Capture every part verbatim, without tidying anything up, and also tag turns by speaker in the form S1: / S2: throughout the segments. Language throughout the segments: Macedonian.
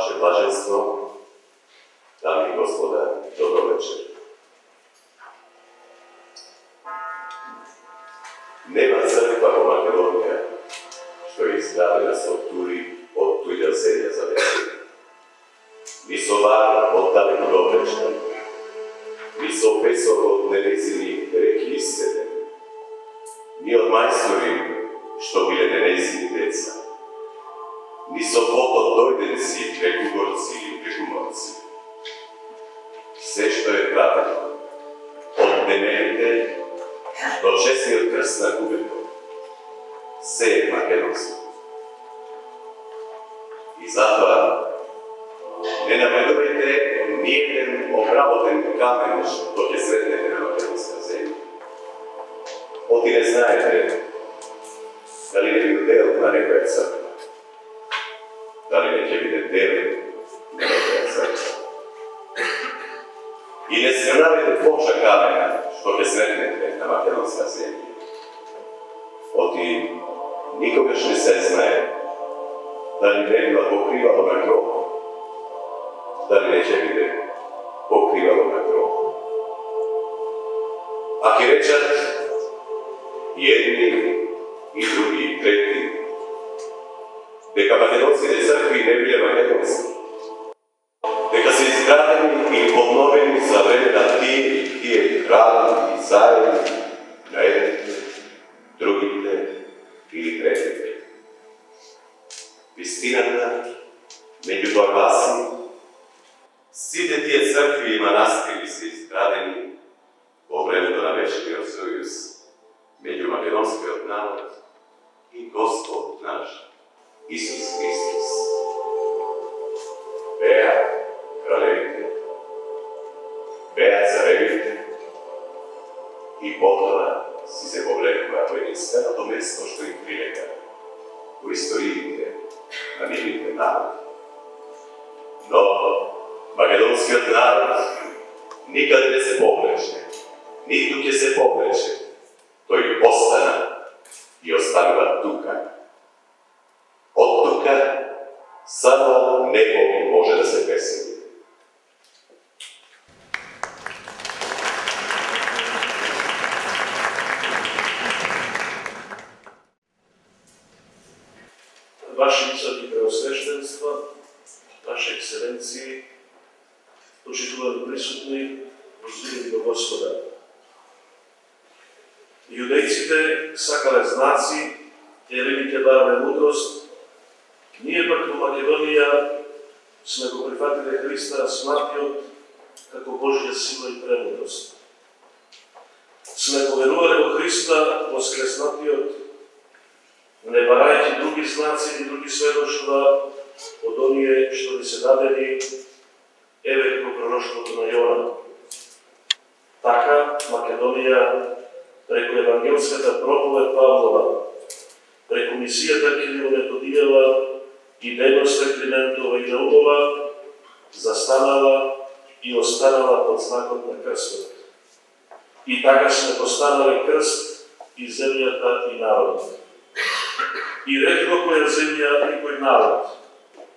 S1: ваше блаженство, дами и господа, добро вечер. Нема црква во Македонија што е изградена со тури од туѓа земја за вечер. Ни со вар од далеко до вечер, ни со песок од ненезини реки исцедени, ни од мајстори што биле ненезини деца, ни со поток дојденци преку горци и преку морци. Се што е пратено од демените до честниот крст на губето, се е македонско. И затоа не напредувајте ниеден обработен камен што ќе сретнете на македонска земја. Оти не знаете дали не биде дел на некоја црква, дали не ќе биде дел на некоја црква. И не срнавите плоча камена што ќе сретнете на македонска земја. Оти никогаш не се знае дали не била покривало на гроб, дали не ќе биде покривало на гроб. А ќе речат и едни, и други, и трети, дека македонските цркви не биле македонски, дека се изградени и подновени за време на тие и тие крави и цари, на едните, другите или третите. Вистината, меѓу тоа гласи, сите тие цркви и манастири се изградени во времето на вечниот сојуз меѓу македонскиот народ и Господ наш Исус Христос. Беа кралевите, беа царевите и потоа си се повлекува во единственото место што им прилега во историите на нивните народи. Но македонскиот народ никаде не се повлече, ниту ќе се повлече. Тој остана и останува тука. Од тука само него може да се весели.
S2: Ваши високи преосвещенства, Ваши екселенции, почитувани присутни, возлюбени во Господа. Јудејците сакале знаци, елините барале мудрост, ние пак во Македонија сме го прифатиле Христа сматиот како Божја сила и премудрост. Сме поверувале во Христа воскреснатиот, не барајќи други знаци или други сведоштва од оние што ни се дадени, еве како пророштвото на Јона. Така Македонија преку евангелската проповед Павлова, преку мисијата Кирил-Методијева и дейноста Климентова и Наумова, застанала и останала под знакот на крстот. И така сме постанале крст и земјата и народот. И ретко која земја и кој народ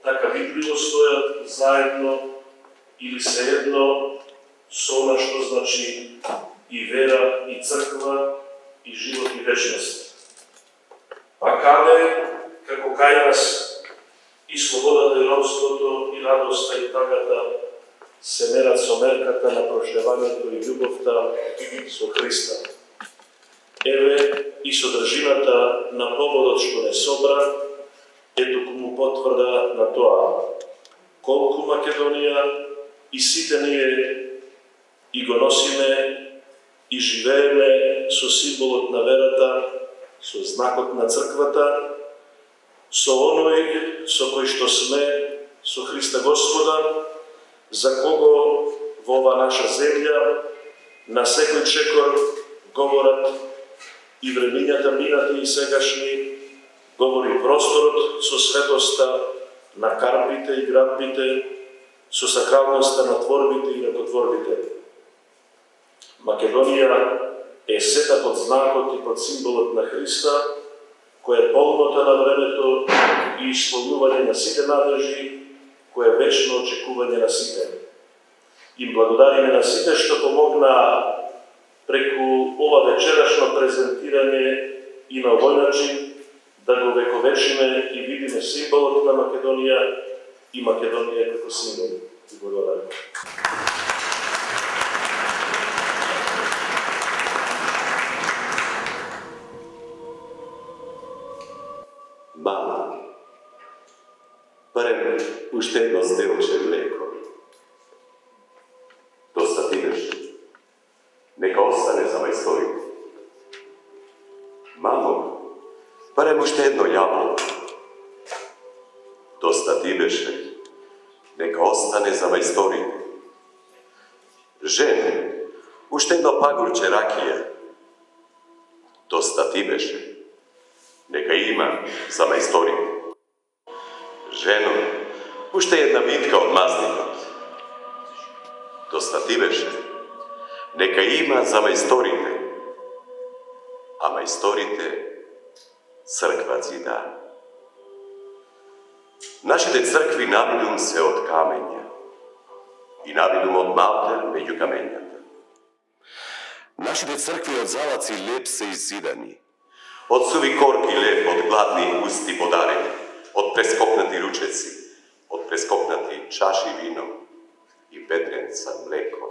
S2: така видливо стојат заедно или sejedno со она што значи и вера, и црква, и живот, и вечност. А каде, како кај нас, и слободата, и робството, и радоста, и тагата се мерат со мерката на прошлевањето и љубовта со Христа. Еве и содржината на поводот што не собра е токму потврда на тоа колку Македонија и сите ние и го носиме и живееме со символот на верата, со знакот на црквата, со оној со кој што сме, со Христа Господа, за кого во ова наша земја на секој чекор говорат и времињата минати и сегашни, говори просторот со светоста на карпите и градбите, со сакралноста на творбите и ракотворбите. Македонија е сета под знакот и под символот на Христа, која е полнота на времето и исполнување на сите надлежи, кој е вечно очекување на сите. Им благодариме на сите што помогна преку ова вечерашно презентирање и на овој начин да го вековечиме и видиме символот на Македонија и Македонија како символ. И благодарам.
S1: Мама, барем уште едно зделче млеко. Доста ти беше. Нека остане за мајсторите. Мамо, барем уште едно јаблко. Доста ти беше. Нека остане за мајсторите. Жене, уште едно пагурче ракија. Доста ти беше. Нека има за мајсторите. Жено, уште една витка од мазникот. Доста ти беше. Нека има за мајсторите. А мајсторите црква зида. Нашите цркви навидум се од камења и навидум од малтер меѓу камењата. Нашите цркви од залаци леп се иззидани. Од суви корки леп, од гладни усти подарени, од прескокнати ручеци, од прескокнати чаши вино и ведренца млеко.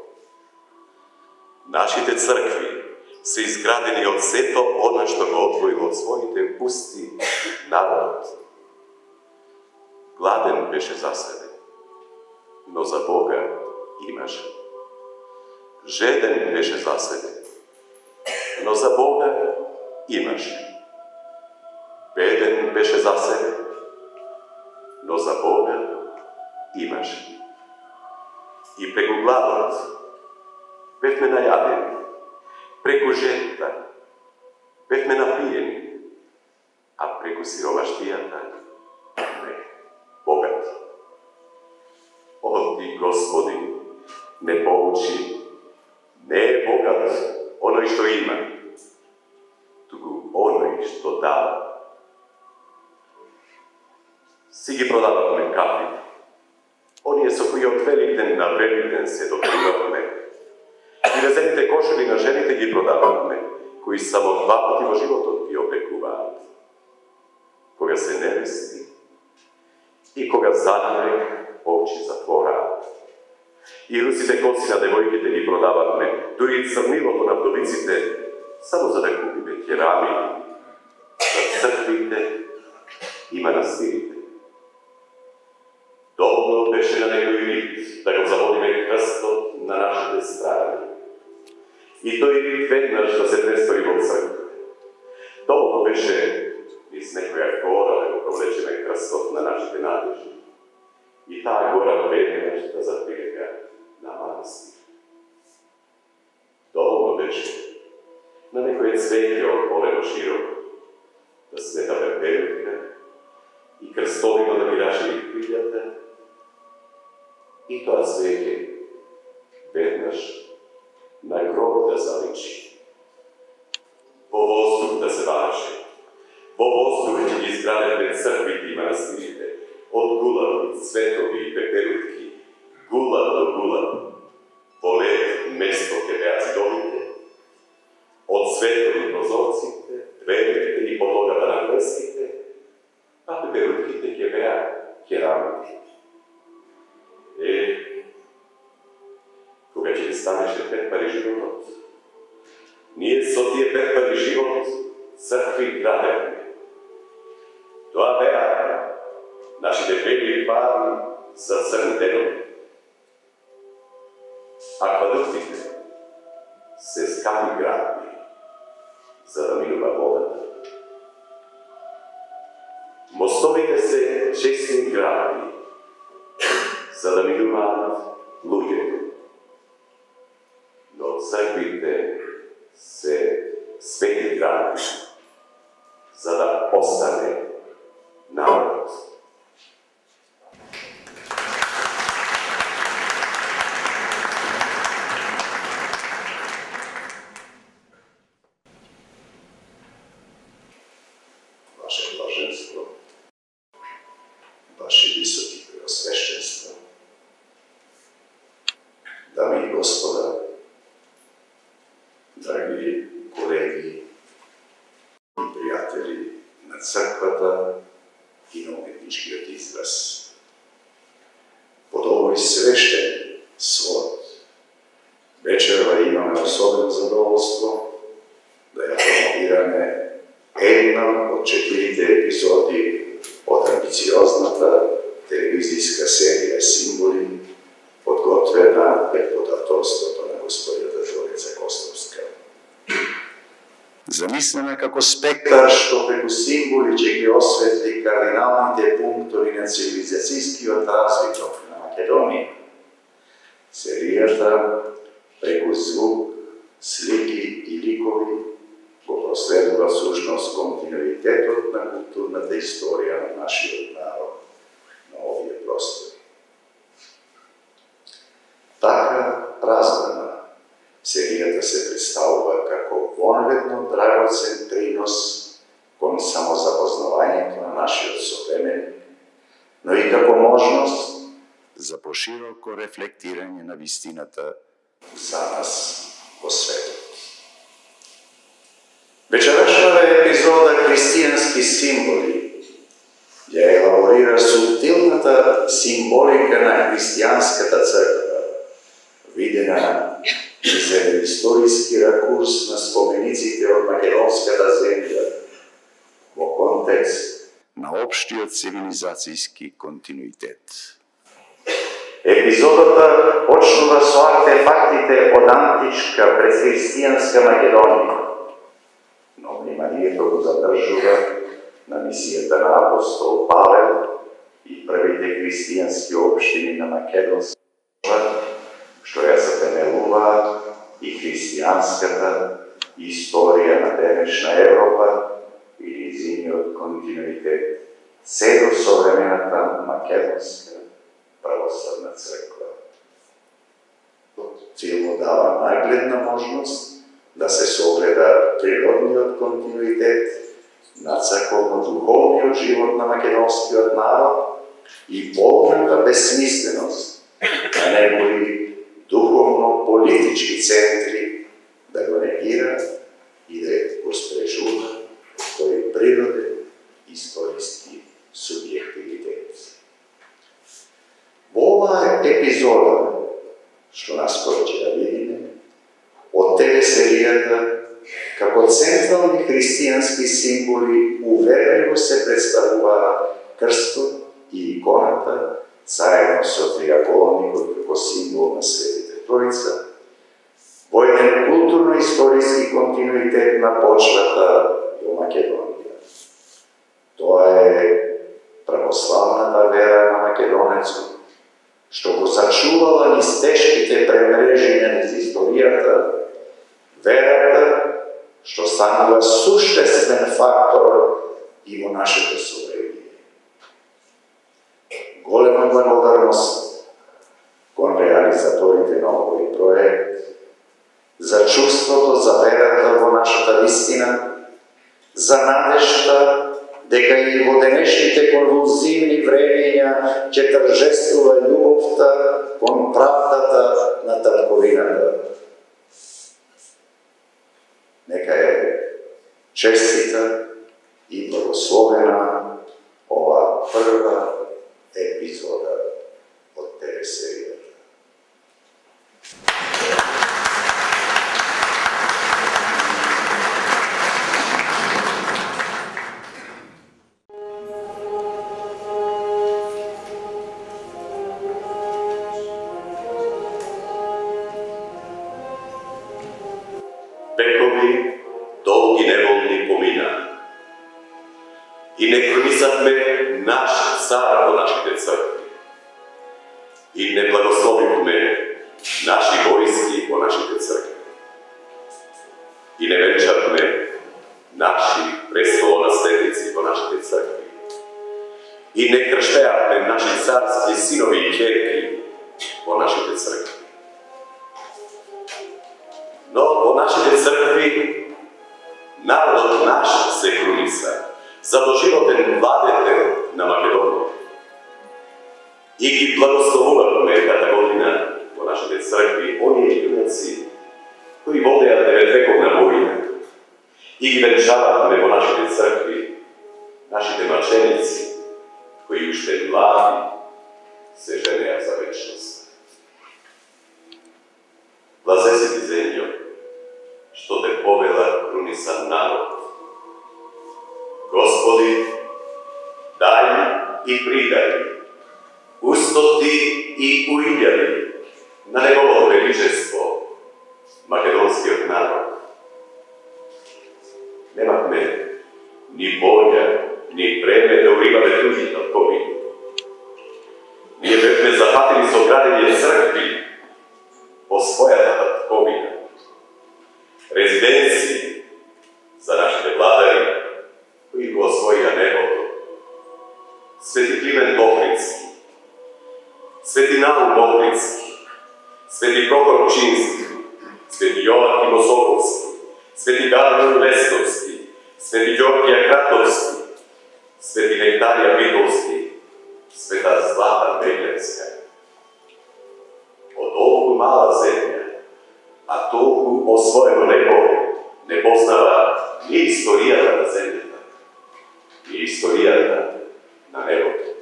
S1: Нашите цркви се изградени од сето она што го одвоил од своите усти народот. Гладен беше за себе, но за Бога имаше. Жеден беше за себе, но за Бога имаше. Беден беше за себе, но за Бога имаше. И преку гладот бевме најадени, преку жетта бевме напиени, а преку сиромаштијата бевме богати. О, ти, Господи, не поучи, не е богат оној што има, туку оној што дава. Си ги продававме кафи, оние со кои од Великден на Великден се дотрувавме, и резените кошеви на жените ги продававме, кои само два пати во животот ги опекуваат. Кога се невести и кога затворех очи затвораат. И русите коси на девојките ги продававме, дури и црнилото на вдовиците, само за да купиме керамики за црквите и манастирите. Доволно беше на некој вид да го заводиме крстот на нашите страни. И тој вид веднаш да се престори во црква. Доволно беше из некоја гора да го провлечеме крстот на нашите надежи. И таа гора веднаш да заприлега на манастир. Доволно беше на некој цвеќе од полено широко да света пепелка и крстовино да мираше и крилјата. И тоа цвеќе веднаш на гроб да заличи. Во воздух да се ваше. Во воздух ќе ги изградеме црквите и манастирите. Од гулави, цветови и пеперутки, гулав до гулав. Во лед место ќе беа зидовите, од цветови прозорците, дверите и подлогата на крстите, а пеперутките ќе беа керамики. Е, кога ќе станеше пет пари животот, ние со тие пет пари живот цркви градевме. Тоа беа нашите бели пари за црн денот. Аквадуктите се скапи градби, за да минува водата. Мостовите се честни градби, за да минуваат луѓето. Но црквите се свети градби, за да остане народ.
S3: Ваше блаженство, Ваше високи преосвещенство, црквата и на уметничкиот израз. Под овој свештен свод вечерва имаме особено задоволство да ја промовираме една од четирите епизоди од амбициозната телевизијска серија Символи, подготвена под авторството на господјата Зорица Костовска. Замислена како спектар што преку символи ќе ги осветли кардиналните пунктови на цивилизацијскиот развиток на Македонија, серијата преку звук, слики и ликови го проследува всушност континуитетот на културната историја на нашиот народ на овие простори. Така празна серијата се представува како вонведно драгоцен принос кон самозапознавањето на нашиот современик, но и како можност за пошироко рефлектирање на вистината за нас во светот. Вечерашната епизода Христијански символи ја елаборира субтилната символика на христијанската црква, видена из еден историски ракурс на спомениците од македонската земја во контекст на општиот цивилизацијски континуитет. Епизодата почнува со артефактите од античка предхристијанска Македонија, но вниманието го задржува на мисијата на апостол Павел и првите христијански општини на Македонска, што ја затемелува и христијанската историја на денешна Европа и низиниот континуитет се до современата македонска православна црква. Филмот дава нагледна можност да се согледа природниот континуитет на црковно-духовниот живот на македонскиот народ и полната безсмисленост на негови духовно-политички центри да го негира и да го спрежува тој природен историски субјективитет. Во оваа епизода, што наскоро ќе да видиме, од телесеријата, како централни христијански символи уверливо се представуваат крстот и иконата, заедно со триаголникот како символ на Светите Тројца, во еден културно-историски континуитет на почвата во Македонија. Тоа е православната вера на македонецот, што го сачувала низ тешките премрежиња низ историјата, верата што станува суштествен фактор и во нашето совремие. Голема благодарност кон реализаторите на овој проект за чувството за верата во нашата вистина, за надежта дека и во денешните конвулзивни времења ќе торжествува љубовта кон правдата на татковината. Нека е честита и благословена ова прва епизода од телесеријата.
S1: Векови долги неволни помина и не пронисавме наш цар во нашите цркви и не благословивме наши војски во нашите цркви и не венчавме наши престолонаследници во нашите цркви и не крштеавме наши царски синови и ќерки во нашите цркви. Но во нашите цркви народот наш се круниса за доживотен владетел на Македонија и ги благословувавме ката година во нашите цркви оние јунаци кои водеа деветвековна војна и ги венчававме во нашите цркви уште млади се женеа за вечност. Блазе си ти, земјо, што те повела крунисан народ. Господи, дај и придај, устоти и уилјави на неговото величество, македонскиот народ. Немавме ни волја, ни време да уримаме другите од ковид. Ние бевме запатени со градење цркви по својата татковина, резиденции за нашите владари, кои го освоија небото. Свети Климент Охридски, Свети Наум Охридски, Свети Прокор Пчински, Свети Јовахим Осоковски, Свети Гаврил Лесковски, Свети Ѓоргија Кратовски, Свети Нектарија Битолски, Света Злата Меглевска. Од толку мала земја, а толку освоено небо, не познава ни историјата на земјата, ни историјата на небото.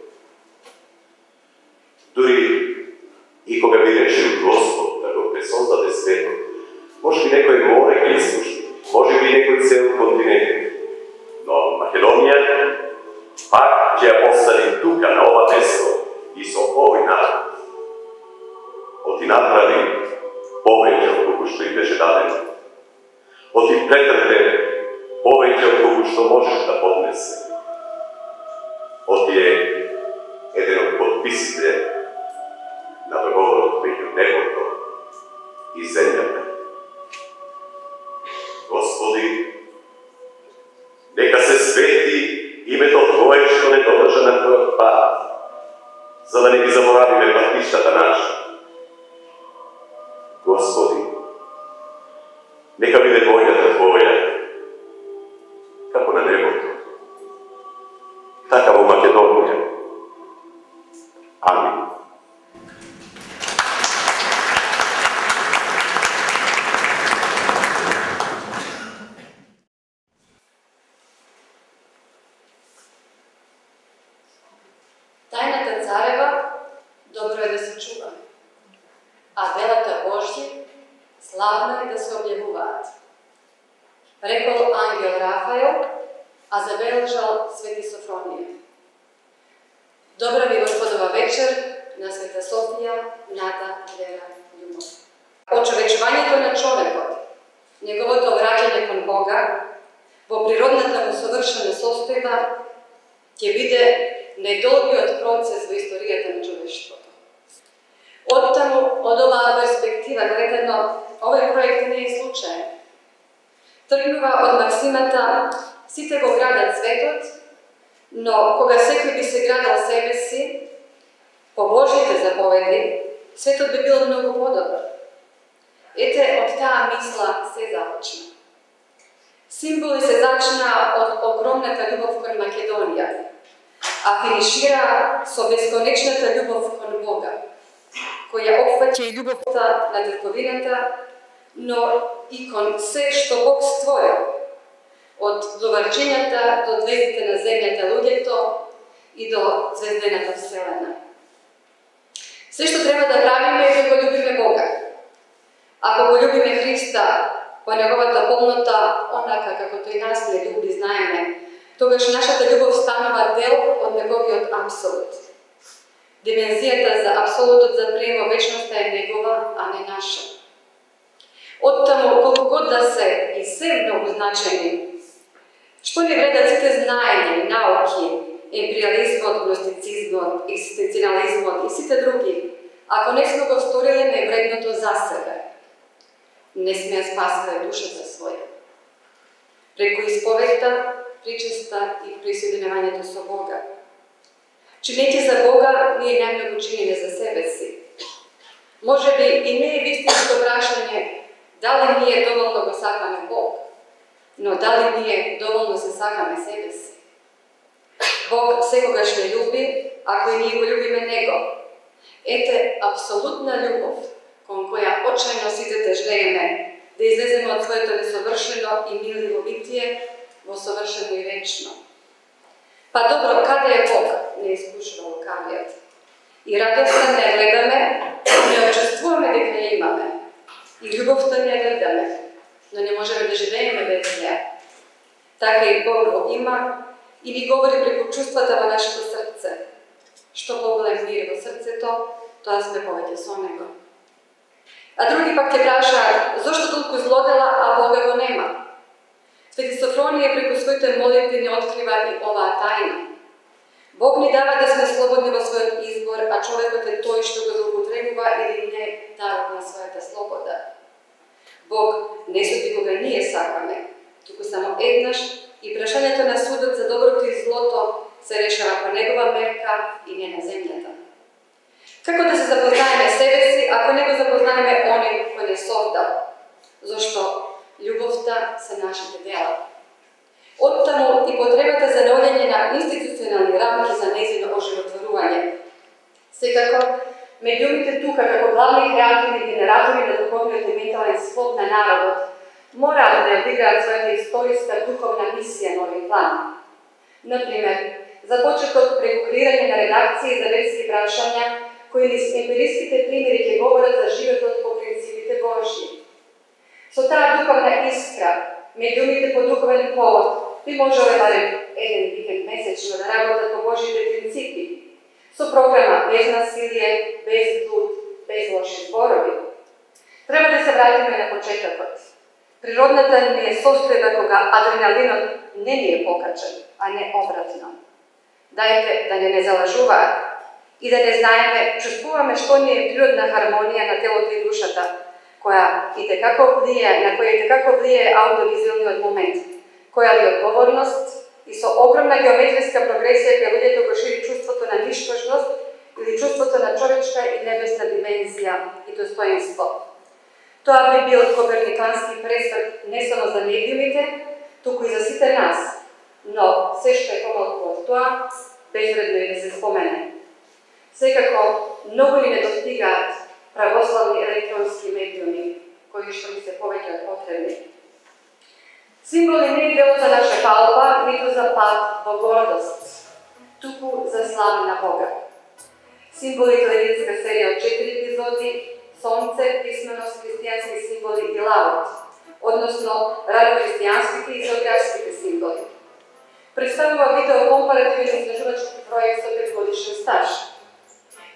S1: Дури и кога би решил Господ да го пресоздаде светот, може би некој море ги изслуши, може би некој цел континент, но Македонија пак ќе ја постави тука на ова место и со овој народ. Оти направи повеќе од колку што им беше дадено. Оти претрпе повеќе од колку што можеш да поднесе. Оти е еден од подписите на договорот меѓу небото и земјата. Господи, нека се свети името Твое што не додржа на Твојот пат, за да не ги заборавиме патиштата наша. Господи, нека биде војната Твоја, како на небото, така во Македонија. Амин.
S4: Тајната царева добро е да се чува, а делата Божји славно е да се објавуваат. Рекол ангел Рафаел, а забележал Свети Софронија. Добра ви Господова вечер на Света Софија, нада, вера, љубов. Очовечувањето на човекот, неговото враќање кон Бога, во природната му совршена состојба, ќе биде најдолгиот процес во историјата на човештвото. Оттаму, од оваа перспектива гледано, овој проект не е случаен. Тргнува од максимата сите го градат светот, но кога секој би се градал себе си, по Божјите заповеди, светот би бил многу подобар. Ете, од таа мисла се започна. Символи се зачна од огромната љубов кон Македонија, а финишира со бесконечната љубов кон Бога, која опфаќа и љубовта на татковината, но и кон се што Бог створил, од доварчињата до звездите на земјата луѓето и до звездената вселена. Се што треба да правиме е да го љубиме Бога. Ако го љубиме Христа по неговата полнота, онака како тој нас не љуби, знаеме, тогаш нашата љубов станува дел од неговиот апсолут. Димензијата за апсолутот за приема вечноста е негова, а не наша. Оттаму, колку год да се и се многу значени, што не вредат сите знаења, науки, емпириализмот, гностицизмот, екзистенцијализмот и сите други, ако не сме го сториле највредното за себе, не сме ја спасиле душата своја. Преку исповедта, причеста и присоединувањето со Бога. Чинејќи за Бога, ние најмногу чиниме за себе си. Може би и не е вистинско прашање дали ние доволно го сакаме Бог, но дали ние доволно се сакаме себе си. Бог секогаш не љуби, ако и ние го љубиме Него. Ете апсолутна љубов, кон која очајно сите тежлееме да излеземе од своето несовршено и миливо битие во совршено и вечно. Па добро, каде е Бог? Не искушува И радоста не гледаме, не очувствуваме дека ја имаме. И љубовта не гледаме, но не можеме да живееме без неа. Така и Бог го има и ни говори преку чувствата во нашето срце. Што поголем мир во срцето, тоа сме повеќе со Него. А други пак ќе прашаат, зошто толку злодела, а Бога го нема? Свети Софронија преку своите молитви ни открива и оваа тајна. Бог ни дава да сме слободни во својот избор, а човекот е тој што го злоупотребува или не дарот на својата слобода. Бог не суди кога ние сакаме, туку само еднаш и прашањето на судот за доброто и злото се решава по негова мерка и не на земјата. Како да се запознаеме себе си, ако не го запознаеме оној кој не создал? Зошто љубовта се нашите дела. Оттаму и потребата за наоѓање на институционални рамки за нејзино оживотворување. Секако, медиумите тука, како главни креативни генератори на духовниот и ментален склоп на народот, мораат да одиграат својата историска духовна мисија на овој план. Например, започетот преку креирање на редакции за верски прашања, кои низ емпириските примери ќе говорат за животот по принципите Божји. Со таа духовна искра, медиумите по духовен повод би можеле барем еден викенд месечно да работат по Божите принципи, со програма без насилие, без блуд, без лоши зборови. Треба да се вратиме на почетокот. Природната ни е состојба кога адреналинот не ни е покачен, а не обратно. Дајте да не не залажуваат и да не знаеме, чувствуваме што ни е природна хармонија на телото и душата, која и текако влијае, на која и текако влијае аудиовизуелниот момент, која ли одговорност и со огромна геометриска прогресија кај луѓето го шири чувството на ништожност или чувството на човечка и небесна димензија и достоинство. Тоа би бил коперникански пресврт не само за медиумите, туку и за сите нас, но се што е помалку од тоа, безвредно е да се спомене. Секако, многу ни не достигаат православни електронски медиуми, кои што ни се повеќе од потребни. Символи не е дело за наша палба, ниту за пат во гордост, туку за слава на Бога. Символи телевизиска серија од четири епизоди, Сонце, писменост, христијански символи и лавот, односно радохристијанските и географските символи. Представува видео компаративен изложувачки проект со петгодишен стаж.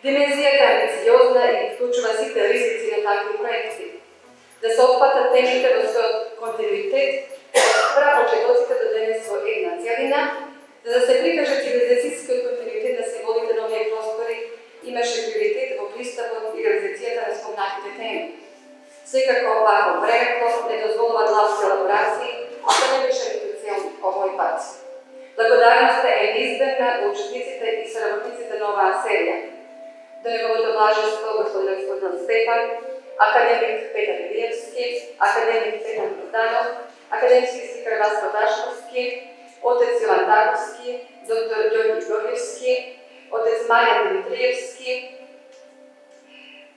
S4: Димензијата е амбициозна и вклучува сите ризици на такви проекти. Да се опфатат темите во својот континуитет, од прапочетоците до денес во една целина, за да се прикаже цивилизацијскиот континуитет на символите на овие простори, имаше приоритет во пристапот и реализацијата на спомнатите теми. Секако вако времето не дозволува длабски елаборации, а тоа не беше ниту цел овој пат. Благодарноста е неизбежна во учесниците и соработниците на оваа серија. До неговото блаженство господин господин Стефан, академик Петар Илиевски, академик Петар Богданов, академски сликар Васко Дашковски, отец Иван Таковски, доктор Ѓорги Георгиевски, отец Маријан Димитриевски,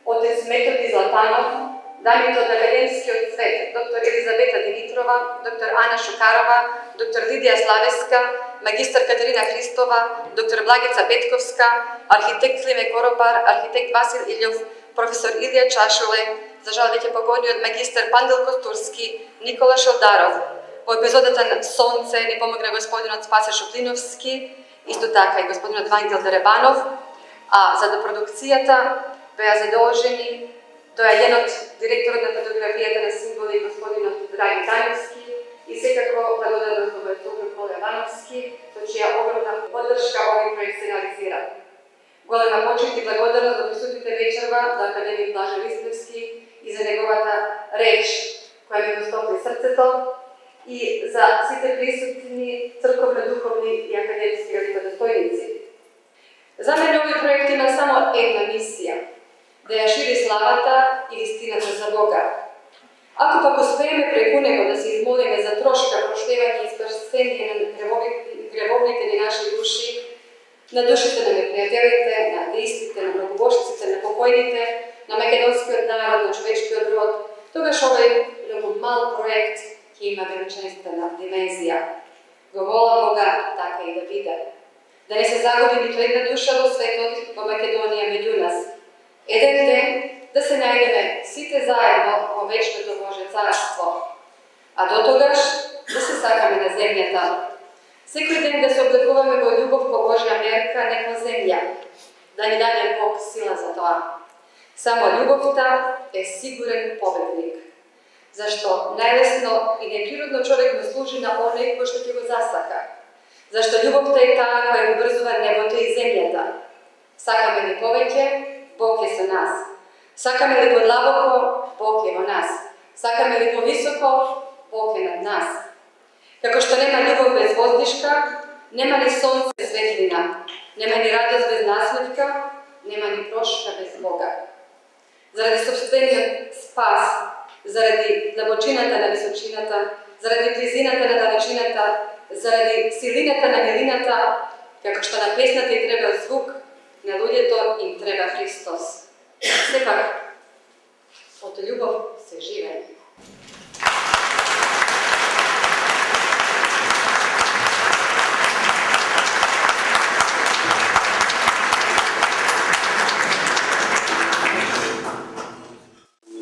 S4: отец Методи Златанов, дамите од академскиот свет, доктор Елизавета Димитрова, доктор Ана Шукарова, доктор Лидија Славеска, магистар Катерина Христова, доктор Благица Петковска, архитект Климе Коропар, архитект Васил Илјов, професор Илија Чашуле, за жал веќе покойниот магистар Пандел Костурски, Никола Шелдаров. Во епизодата на Сонце ни помогна господинот Спасе Шуплиновски, исто така и господинот Вангел Деребанов, а за да продукцијата беа задолжени доаѓенот директорот на фотографијата на символи господинот Драги Тајовски и секако благодарност во мојот Коле Ивановски, со чија огромна поддршка овој проект се реализира. Голема почит и благодарност до присутните вечерва до академик Блаже Листевски и за неговата реч која ми го стопли срцето и за сите присутни црковно-духовни и академски великодостојници. За мене овој проект има само една мисија – да ја шири славата и вистината за Бога. Ако пак успееме преку него да се измолиме за трошка проштевање и спасение на гревовните ни наши души, на душите на непријателите, на атеистите, на многобожците, на покојните, на македонскиот народ, на човечкиот род, тогаш овој многу мал проект ќе има величествена димензија. Го молам Бога така и да биде. да не се загуби ниту една душа во светот, во Македонија меѓу нас. Еден ден да се најдеме сите заедно во вечното Божје царство, а до тогаш да се сакаме на земјата. Секој ден да се облекуваме во љубов по Божја мерка, не по земја, да ни даде Бог сила за тоа. Само љубовта е сигурен победник, зашто најлесно и неприродно човек му служи на оној кој што ќе го засака. Зашто љубовта е таа која го врзува небото и земјата. Сакаме ли повеќе, Бог е со нас. Сакаме ли подлабоко, Бог е во нас. Сакаме ли повисоко, Бог е над нас. Како што нема љубов без воздишка, нема ни сонце без светлина, нема ни радост без насмевка, нема ни прошка без Бога. Заради собствениот спас, заради длабочината на височината, заради близината на далечината, заради силината на милината, како што на песната и треба звук, на луѓето им треба Христос. Сепак, од љубов се живее.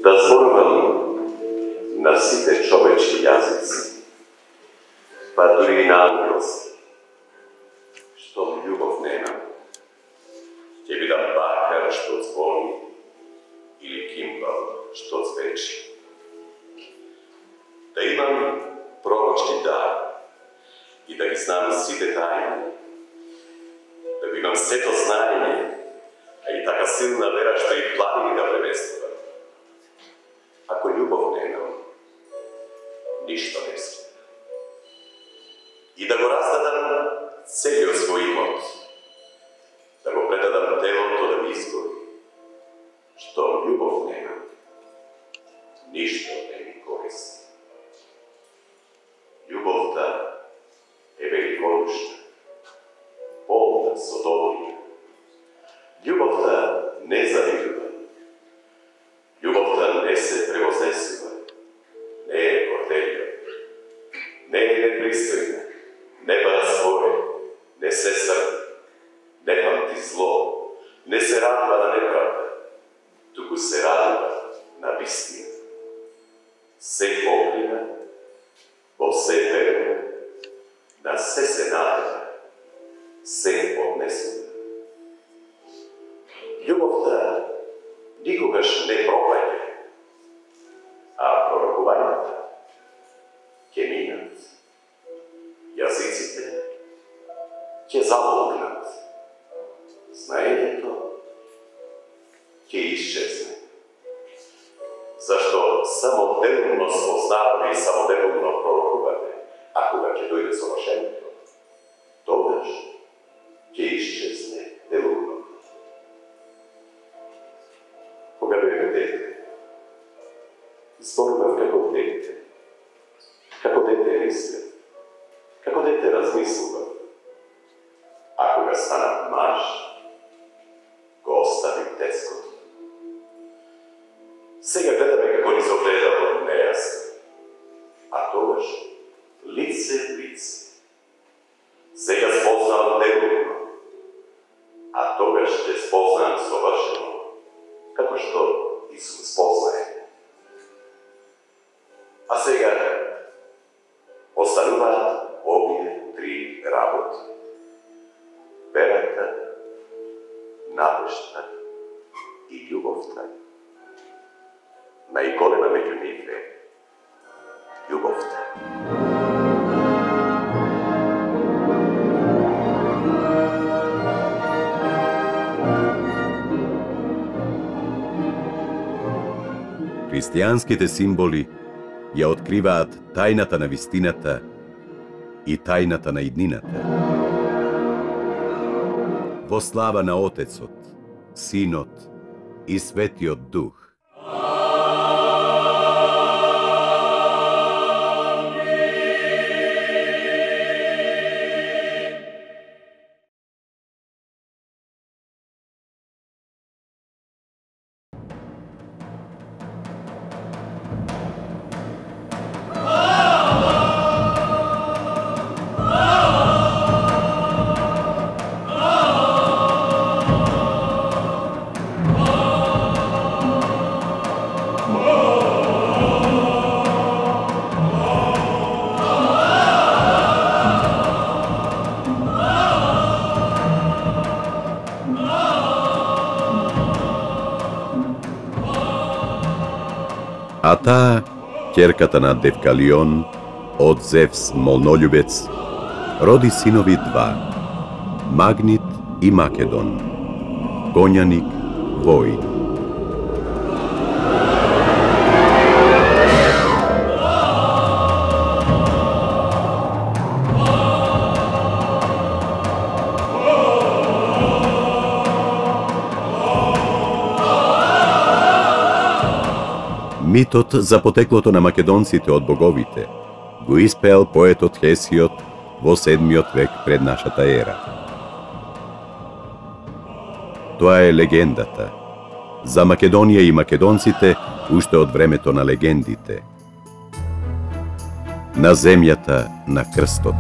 S1: Да зборувам на сите човечки јазици, па дури и на ангелски, што љубов нема, ќе бидам бакар што звони или кимбал што звечи. Да имам пророчки дар и да ги знам сите тајни, да го имам сето знаење, а и така силна вера што и планини да преместувам. Ако љубов немам, ништо не сме. И да го раздадам целиот свој имот, да го предадам телото да ми изгори, што љубов немам, ништо не ми користи. Љубовта е великодушна, полна со добрина. Љубовта не завидува. Љубовта не се превознесува, не е горделива, не е непристојна, не бара свое, не се срди, не памти зло, не се радува на неправда, туку се радува на вистина. Се покрива, во се верува, на се се надева, се однесува. Љубовта никогаш не пропаѓа, а пророкувањата ќе минат. Јазиците ќе замолкнат. Знаењето ќе исчезне. Зашто само делумно спознаваме и само делумно пророкуваме, а кога ќе дојде совршенството, тогаш ќе исчезне делумно. Кога бевме дете, зборував како дете, како дете мислев, како дете размислував, а кога станав маж, го оставив детското. Сега гледаме како ни согледало нејасно, а тогаш лице в лице. Сега спознавам делумно, а тогаш ќе спознавам совршено, како што Исус познае. А сега остануваат овие три работи. Верата, надежта и љубовта. Најголема меѓу нив е љубовта.
S5: Христијанските символи ја откриваат тајната на вистината и тајната на иднината. Во слава на Отецот, Синот и Светиот Дух. А таа, ќерката на Девкалион, од Зевс молнољубец, роди синови два, Магнит и Македон, конјаник, воин. Митот за потеклото на македонците од боговите го испеал поетот Хесиод во седмиот век пред нашата ера. Тоа е легендата за Македонија и македонците уште од времето на легендите. На земјата на крстот.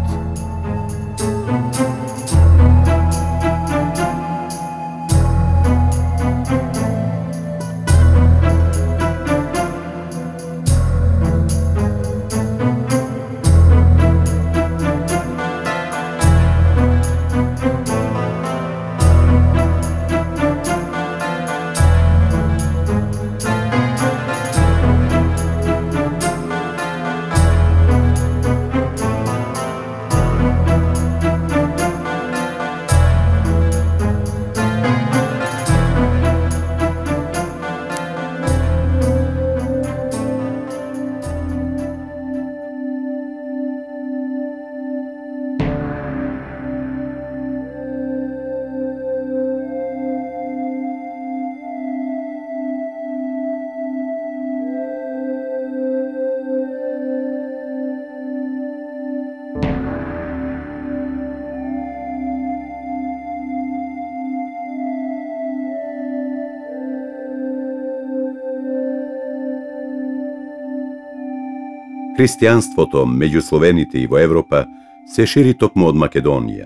S5: Христијанството меѓу словените и во Европа се шири токму од Македонија.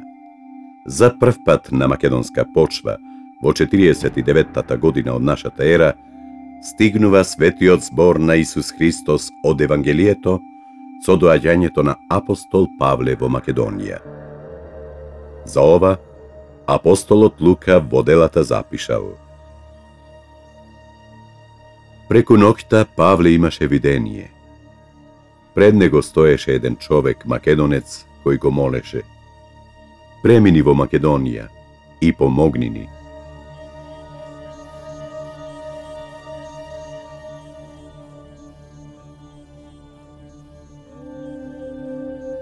S5: За прв пат на македонска почва, во четириесет и деветата година од нашата ера, стигнува светиот збор на Исус Христос од Евангелието со доаѓањето на апостол Павле во Македонија. За ова, апостолот Лука во делата запишал: преку ноќта Павле имаше видение. Пред него стоеше еден човек, македонец, кој го молеше: премини во Македонија и помогни ни.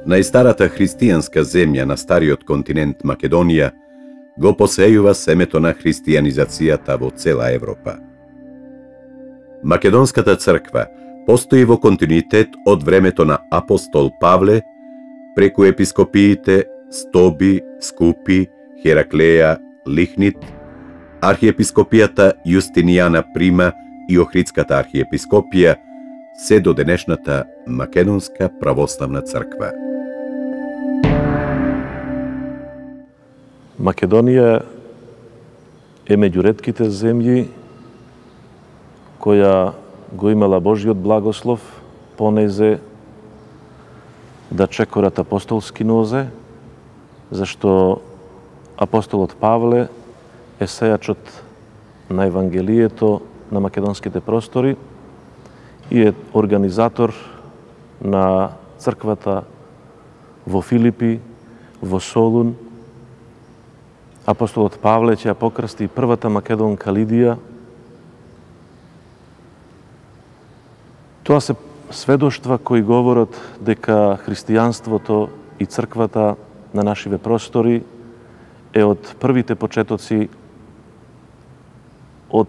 S5: Најстарата христијанска земја на стариот континент Македонија го посејува семето на христијанизацијата во цела Европа. Македонската црква постои во континуитет од времето на апостол Павле, преку епископиите Стоби, Скупи, Хераклеја, Лихнит, архиепископијата Јустинијана Прима и Охридската архиепископија, се до денешната Македонска православна црква.
S2: Македонија е меѓу ретките земји која го имала Божиот благослов понезе да чекорат апостолски нозе, зашто апостолот Павле е сејачот на Евангелието на македонските простори и е организатор на црквата во Филипи, во Солун. Апостолот Павле ќе ја покрсти првата македонка Лидија. Тоа се сведоштва кои говорат дека христијанството и црквата на нашиве простори е од првите почетоци од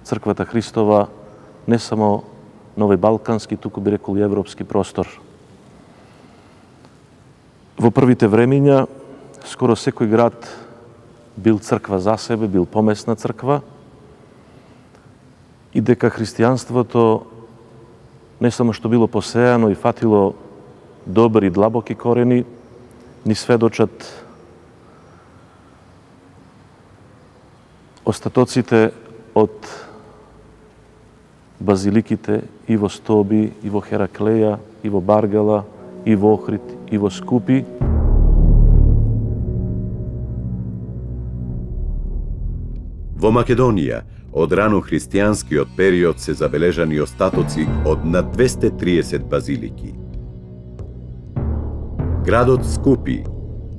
S2: црквата Христова не само на овој балкански, туку би рекол и европски простор. Во првите времиња скоро секој град бил црква за себе, бил помесна црква и дека христијанството не само што било посејано и фатило добри и длабоки корени, ни сведочат остатоците од базиликите и во Стоби, и во Хераклеја, и во Баргала, и во Охрид, и во Скупи.
S5: Во Македонија, од рано христијанскиот период се забележани остатоци од над двесте триесет базилики. Градот Скупи,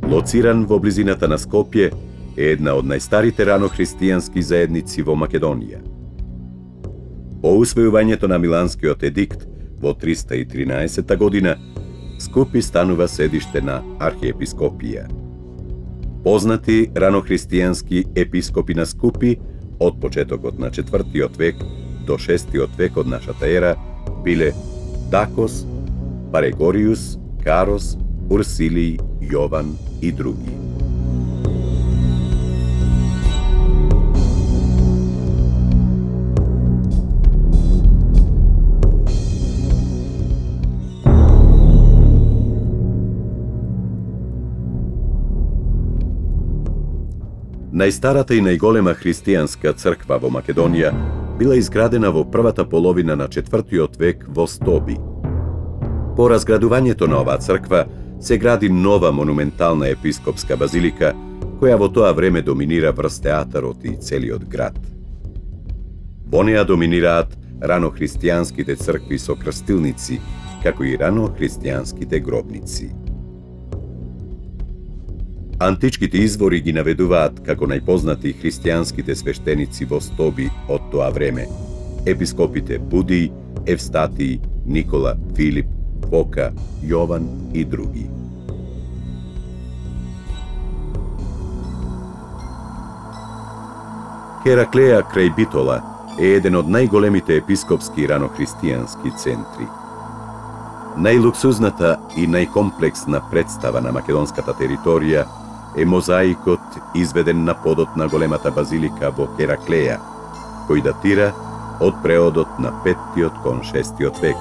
S5: лоциран во близината на Скопје, е една од најстарите рано христијански заедници во Македонија. По усвојувањето на Миланскиот едикт во триста и тринаесета година, Скупи станува седиште на архиепископија. Познати ранохристијански епископи на Скупи од почетокот на четвртиот век до шестиот век од нашата ера биле Дакос, Парегориус, Карос, Урсилий, Јован и други. Најстарата и најголема христијанска црква во Македонија била изградена во првата половина на четвртиот век во Стоби. По разградувањето на оваа црква се гради нова монументална епископска базилика, која во тоа време доминира врз театарот и целиот град. Во неа доминираат ранохристијанските цркви со крстилници, како и ранохристијанските гробници. Античките извори ги наведуваат како најпознати христијанските свештеници во Стоби од тоа време: епископите Будий, Евстатий, Никола, Филип, Фока, Јован и други. Хераклеја крај Битола е еден од најголемите епископски ранохристијански центри. Најлуксузната и најкомплексна представа на македонската територија е мозаикот изведен на подот на големата базилика во Хераклеја, кој датира од преодот на петтиот кон шестиот век.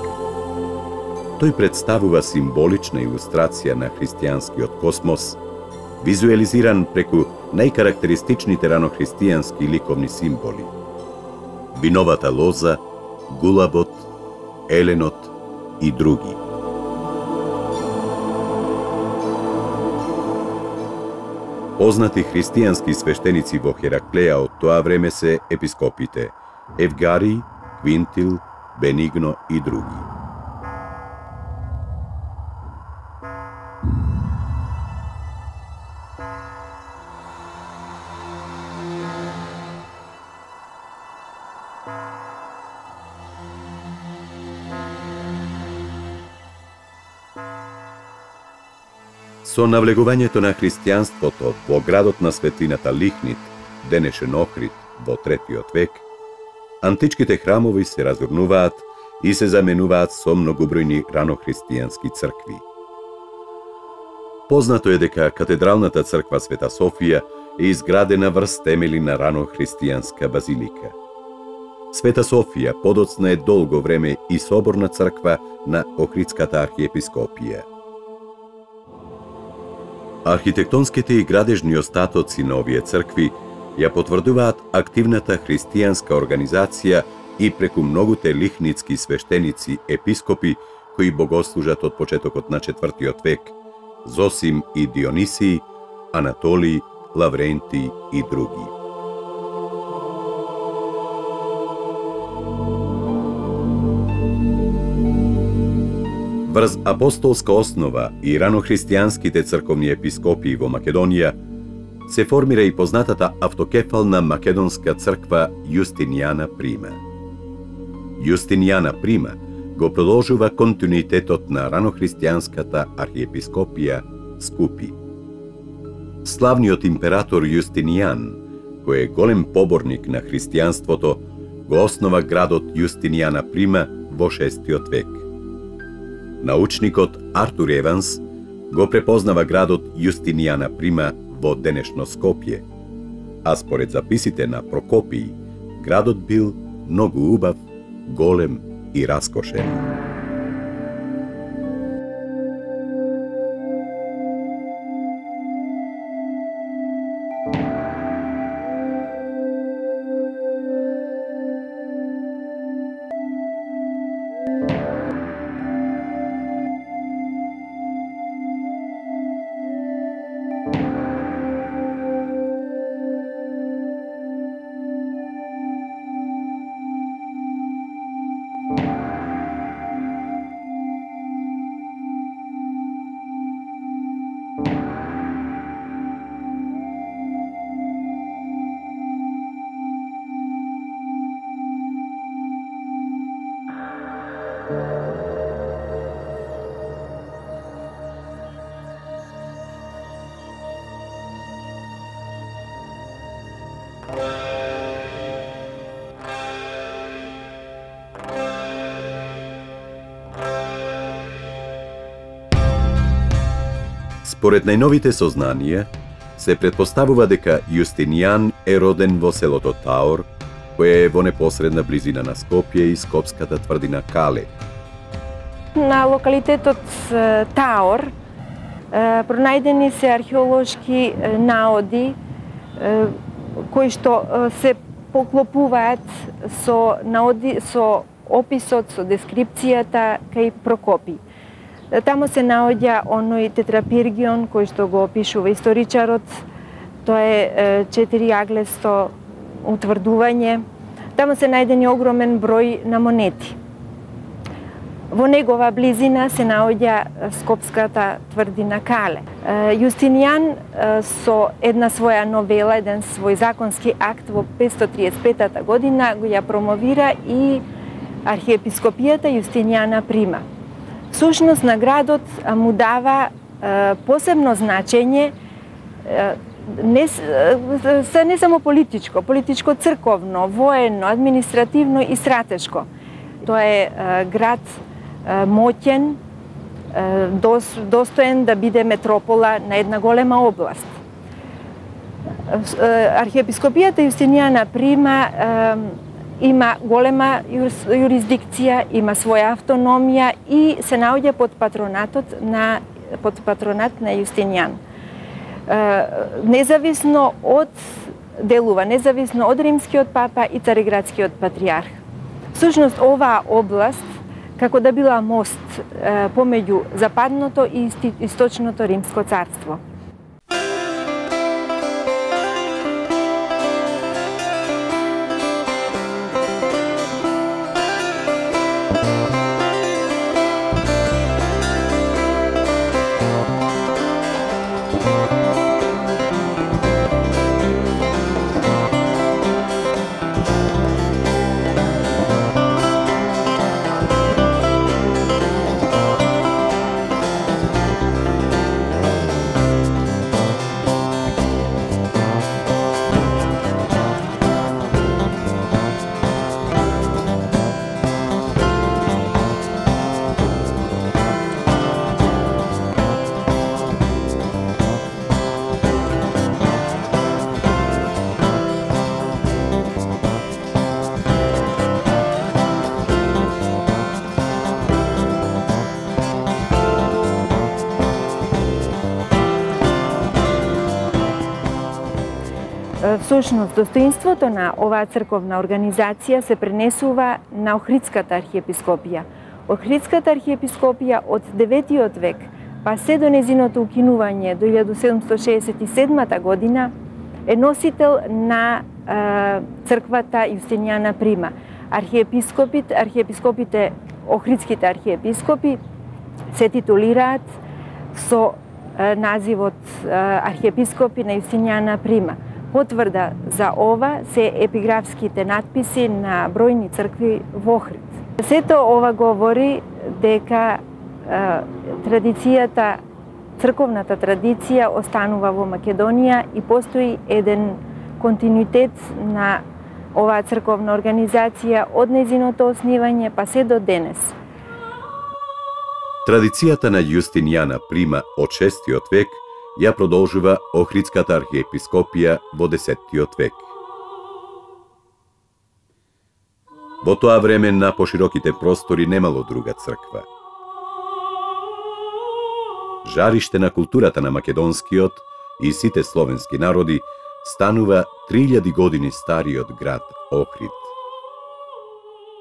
S5: Тој представува символична илустрација на христијанскиот космос, визуелизиран преку најкарактеристичните ранохристијански ликовни символи: виновата лоза, гулабот, еленот и други. Познати христијански свештеници во Хераклеја од тоа време се епископите Евгарий, Квинтил, Бенигно и други. Со навлегувањето на христијанството во градот на светлината Лихнит, денешен Охрид, во третиот век, античките храмови се разурнуваат и се заменуваат со многобројни ранохристијански цркви. Познато е дека катедралната црква Света Софија е изградена врз темели на ранохристијанска базилика. Света Софија подоцна е долго време и соборна црква на Охридската архиепископија. Архитектонските и градежни остатоци на овие цркви ја потврдуваат активната христијанска организација и преку многуте лихницки свештеници, епископи кои богослужат од почетокот на четвртиот век: Зосим и Дионисий, Анатолий, Лаврентий и други. Врз апостолска основа и ранохристијанските црковни епископии во Македонија се формира и познатата автокефална македонска црква Јустинијана Прима. Јустинијана Прима го продолжува континуитетот на ранохристијанската архиепископија Скупи. Славниот император Јустинијан, кој е голем поборник на христијанството, го основа градот Јустинијана Прима во шестиот век. Научникот Артур Еванс го препознава градот Јустинијана Прима во денешно Скопје, а според записите на Прокопиј, градот бил многу убав, голем и раскошен. Според најновите сознанија, се претпоставува дека Јустинијан е роден во селото Таор, кое е во непосредна близина на Скопје и скопската тврдина Кале.
S6: На локалитетот Таор пронајдени се археолошки наоди кои што се поклопуваат со наоди со описот, со дескрипцијата кај Прокопи. Тамо се наоѓа оној тетрапиргион кој што го опишува историчарот. Тоа е четириаглесто утврдување. Тамо се најдени огромен број на монети. Во негова близина се наоѓа скопската тврдина Кале. Јустинијан со една своја новела, еден свој законски акт во петстотини триесет и петата година го ја промовира и архиепископијата Јустинијана Прима. Сушност на градот му дава е, посебно значење е, не, е, не само политичко, политичко-црковно, воено, административно и стратешко. Тоа е, е град е, моќен, е, дос, достоен да биде метропола на една голема област. Е, архиепископијата Јустинијана Прима е, има голема јурисдикција, има своја автономија и се наоѓа под патронатот на под патронат на Јустинијан. Независно од делува, независно од римскиот папа и цариградскиот патриарх. Всушност оваа област како да била мост помеѓу западното и источното римско царство. Всушност, достоинството на оваа црковна организација се пренесува на Охридската архиепископија. Охридската архиепископија од деветиот век, па се до незиното укинување до илјада седумстотини шеесет и седмата година, е носител на е, црквата Јустинијана Прима. Архиепископите, архиепископите, охридските архиепископи се титулираат со е, називот е, архиепископи на Јустинијана Прима. Потврда за ова се епиграфските надписи на бројни цркви во Охрид. Сето ова говори дека е, традицијата, црковната традиција останува во Македонија и постои еден континуитет на оваа црковна организација од незиното основање па се до денес.
S5: Традицијата на Јустинијана Прима од шестиот век ја продолжува Охридската архиепископија во десеттиот век. Во тоа време на пошироките простори немало друга црква. Жариште на културата на македонскиот и сите словенски народи станува три илјади години стариот град Охрид.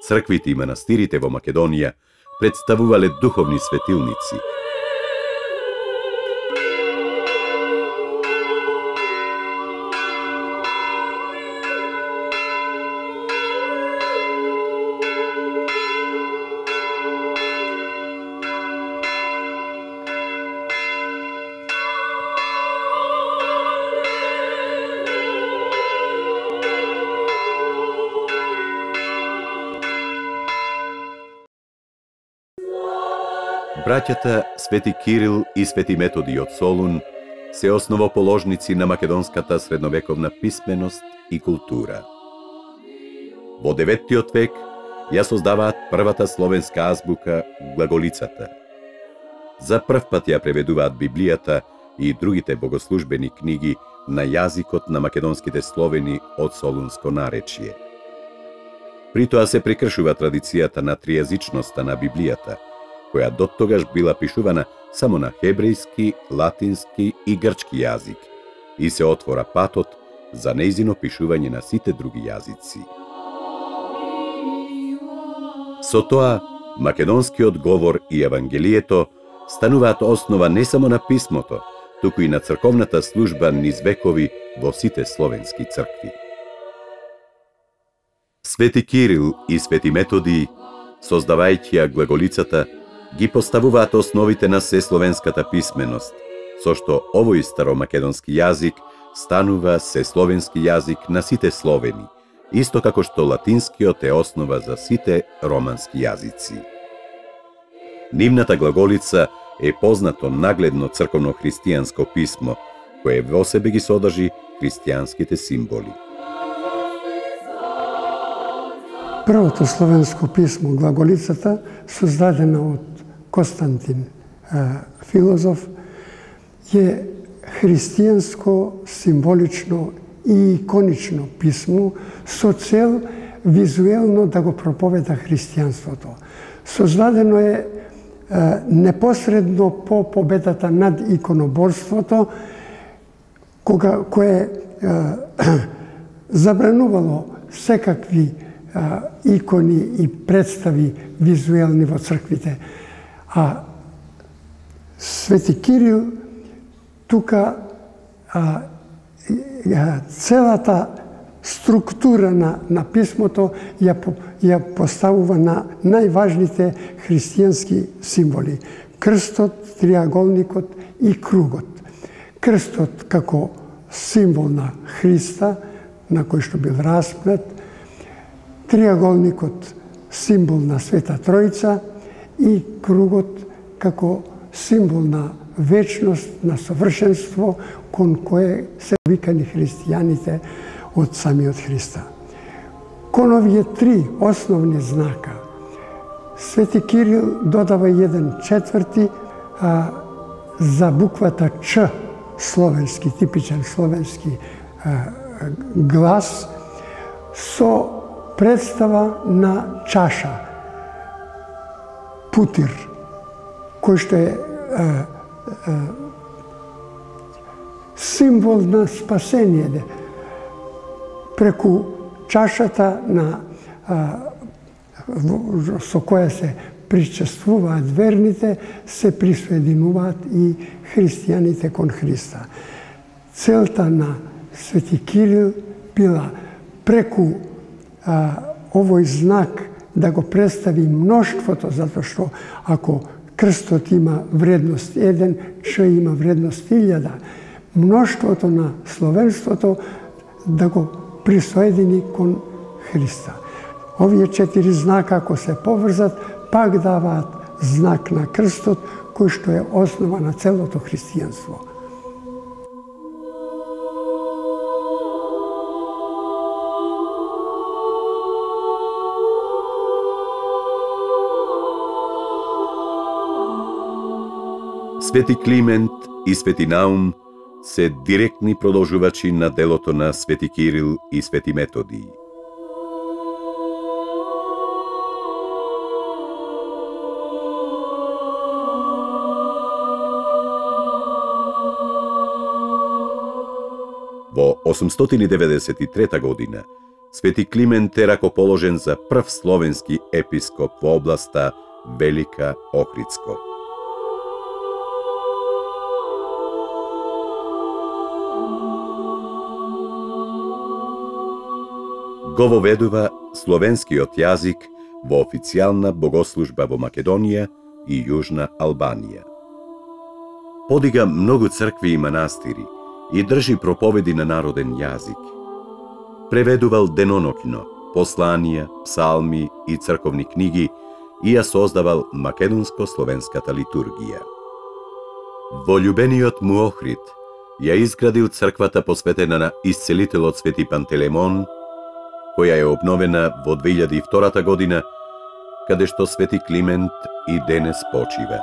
S5: Црквите и манастирите во Македонија представувале духовни светилници. Браќата Свети Кирил и Свети Методи од Солун се основоположници на македонската средновековна писменост и култура. Во деветтиот век ја создаваат првата словенска азбука глаголицата. За прв пат ја преведуваат Библијата и другите богослужбени книги на јазикот на македонските словени од солунско наречие. При тоа се прекршува традицијата на тријазичноста на Библијата, која доттогаш била пишувана само на хебрејски, латински и грчки јазик, и се отвора патот за нејзино пишување на сите други јазици. Со тоа, македонскиот говор и Евангелието стануваат основа не само на писмото, туку и на црковната служба низ векови во сите словенски цркви. Свети Кирил и Свети Методий, создавајќи ја глаголицата, ги поставуваат основите на сесловенската писменост, со што овој старомакедонски јазик станува сесловенски јазик на сите словени, исто како што латинскиот е основа за сите романски јазици. Нивната глаголица е познато нагледно црковно-христијанско писмо, кое во себе ги содржи христијанските символи.
S7: Првото словенско писмо, глаголицата, создадена од Константин филозоф, е христијанско, символично и иконично писмо со цел визуелно да го проповеда христијанството. Создадено е непосредно по победата над иконоборството, кога кое забранувало секакви икони и представи визуелни во црквите. А Свети Кирил тука а, целата структура на, на писмото ја, ја поставува на најважните христијански символи. Крстот, триаголникот и кругот. Крстот како символ на Христа, на кој што бил распнат, триаголникот символ на Света Тројца и кругот како символ на вечност, на совршенство, кон кое се викани христијаните од самиот Христа. Кон овие три основни знака, Свети Кирил додава еден четврти а, за буквата Ч, словенски, типичен словенски а, глас, со представа на чаша, путир, кој што е а, а, символ на спасение. Преку чашата на, а, со која се причествуваат верните, се присоединуваат и христијаните кон Христа. Целта на Свети Кирил била преку а, овој знак да го представи мноштвото, затоа што ако крстот има вредност еден, Ч има вредност илјада, мноштвото на словенството да го присоедини кон Христа. Овие четири знака, ако се поврзат, пак даваат знак на крстот, кој што е основа на целото христијанство.
S5: Свети Климент и Свети Наум се директни продолжувачи на делото на Свети Кирил и Свети Методий. Во осумстотини деветдесет и трета година, Свети Климент е ракоположен за прв словенски епископ во областа Велика Охридско. Го воведува словенскиот јазик во официјална богослужба во Македонија и Јужна Албанија. Подига многу цркви и манастири и држи проповеди на народен јазик. Преведувал деноноќно посланија, псалми и црковни книги и ја создавал македонско-словенската литургија. Во љубениот му Охрид ја изградил црквата посветена на исцелителот Свети Пантелеймон, која е обновена во две илјади и втора година, каде што Свети Климент и денес почива.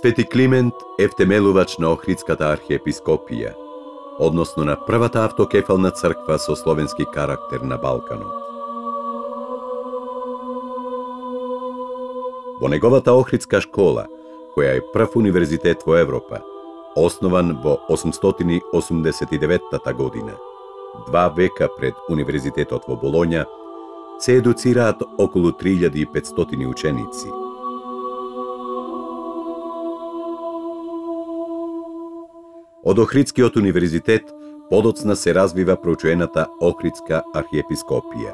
S5: Свети Климент е втемелувач на Охридската архиепископија, односно на првата автокефална црква со словенски карактер на Балканот. Во неговата Охридска школа, која е прв универзитет во Европа, основан во осумстотини осумдесет и деветта година, два века пред универзитетот во Болоња, се едуцираат околу три илјади и петстотини ученици. Од Охридскиот универзитет подоцна се развива прочуената Охридска архиепископија.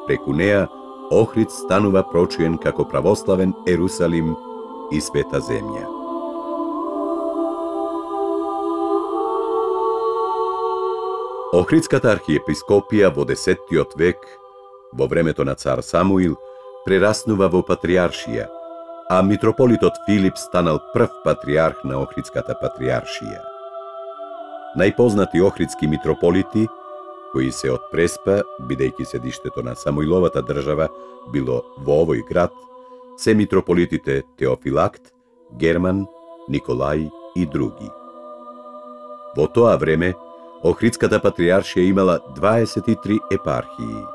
S5: Преку неа, Охрид станува прочуен како православен Ерусалим и Света земја. Охридската архиепископија во десеттиот век, во времето на цар Самуил, прераснува во патриаршија, а митрополитот Филип станал прв патриарх на Охридската патриаршија. Најпознати охридски митрополити, кои се од Преспа, бидејќи седиштето на Самуиловата држава било во овој град, се митрополитите Теофилакт, Герман, Николај и други. Во тоа време, Охридската патриаршија имала дваесет и три епархии.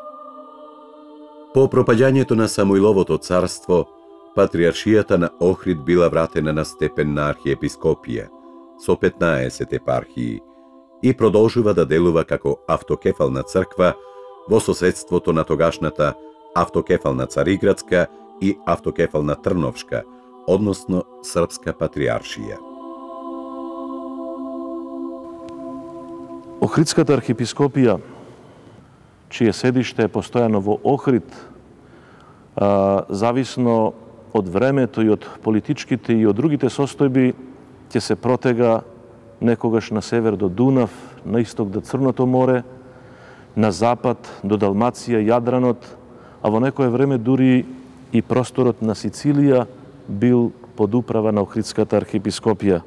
S5: По пропаѓањето на Самуиловото царство, патриаршијата на Охрид била вратена на степен на архиепископија, со петнаесет епархии, и продолжува да делува како автокефална црква во соседството на тогашната автокефална Цариградска и автокефална Трновшка, односно Српска патриаршија.
S2: Охридската архиепископија, чие седиште е постојано во Охрид, а, зависно од времето и од политичките и од другите состојби, ќе се протега некогаш на север до Дунав, на исток до Црното море, на запад до Далмација, Јадранот, а во некое време дури и просторот на Сицилија бил под управа на Охридската архиепископија.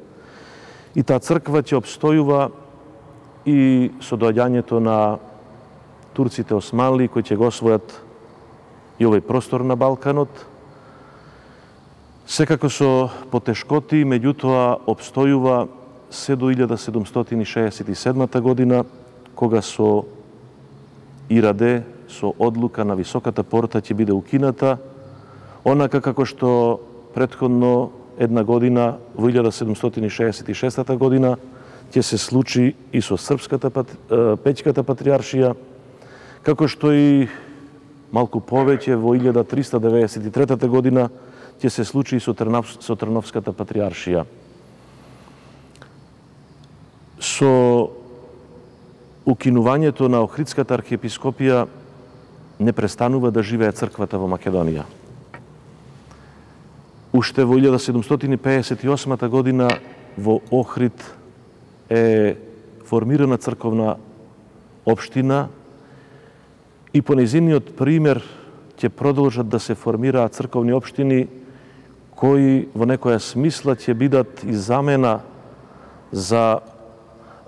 S2: И таа црква ќе обстојува и со доаѓањето на турците османли, кои ќе го освојат и овој простор на Балканот, секако со потешкоти, меѓутоа обстојува се до илјада седумстотини шеесет и седма година, кога со Ираде, со одлука на Високата порта ќе биде укината, онака како што претходно една година, во илјада седумстотини шеесет и шеста година, ќе се случи и со Српската Пеќката патриаршија, како што и малку повеќе во илјада триста деветдесет и трета година ќе се случи и со, Трнав, со Трновската патриаршија. Со укинувањето на Охридската архиепископија не престанува да живее црквата во Македонија. Уште во илјада седумстотини пеесет и осма година во Охрид е формирана црковна општина и по нејзиниот пример ќе продолжат да се формираат црковни општини кои во некоја смисла ќе бидат и замена за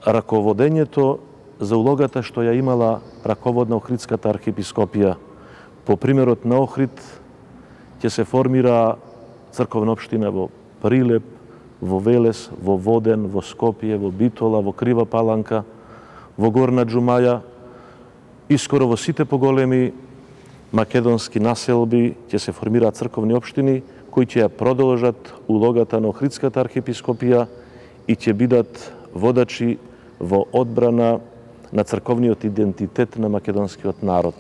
S2: раководењето, за улогата што ја имала раководна Охридската архиепископија. По примерот на Охрид ќе се формира црковна општина во Прилеп, во Велес, во Воден, во Скопје, во Битола, во Крива Паланка, во Горна Џумаја и скоро во сите поголеми македонски населби ќе се формираат црковни општини кои ќе ја продолжат улогата на Охридската архиепископија и ќе бидат водачи во одбрана на црковниот идентитет на македонскиот народ.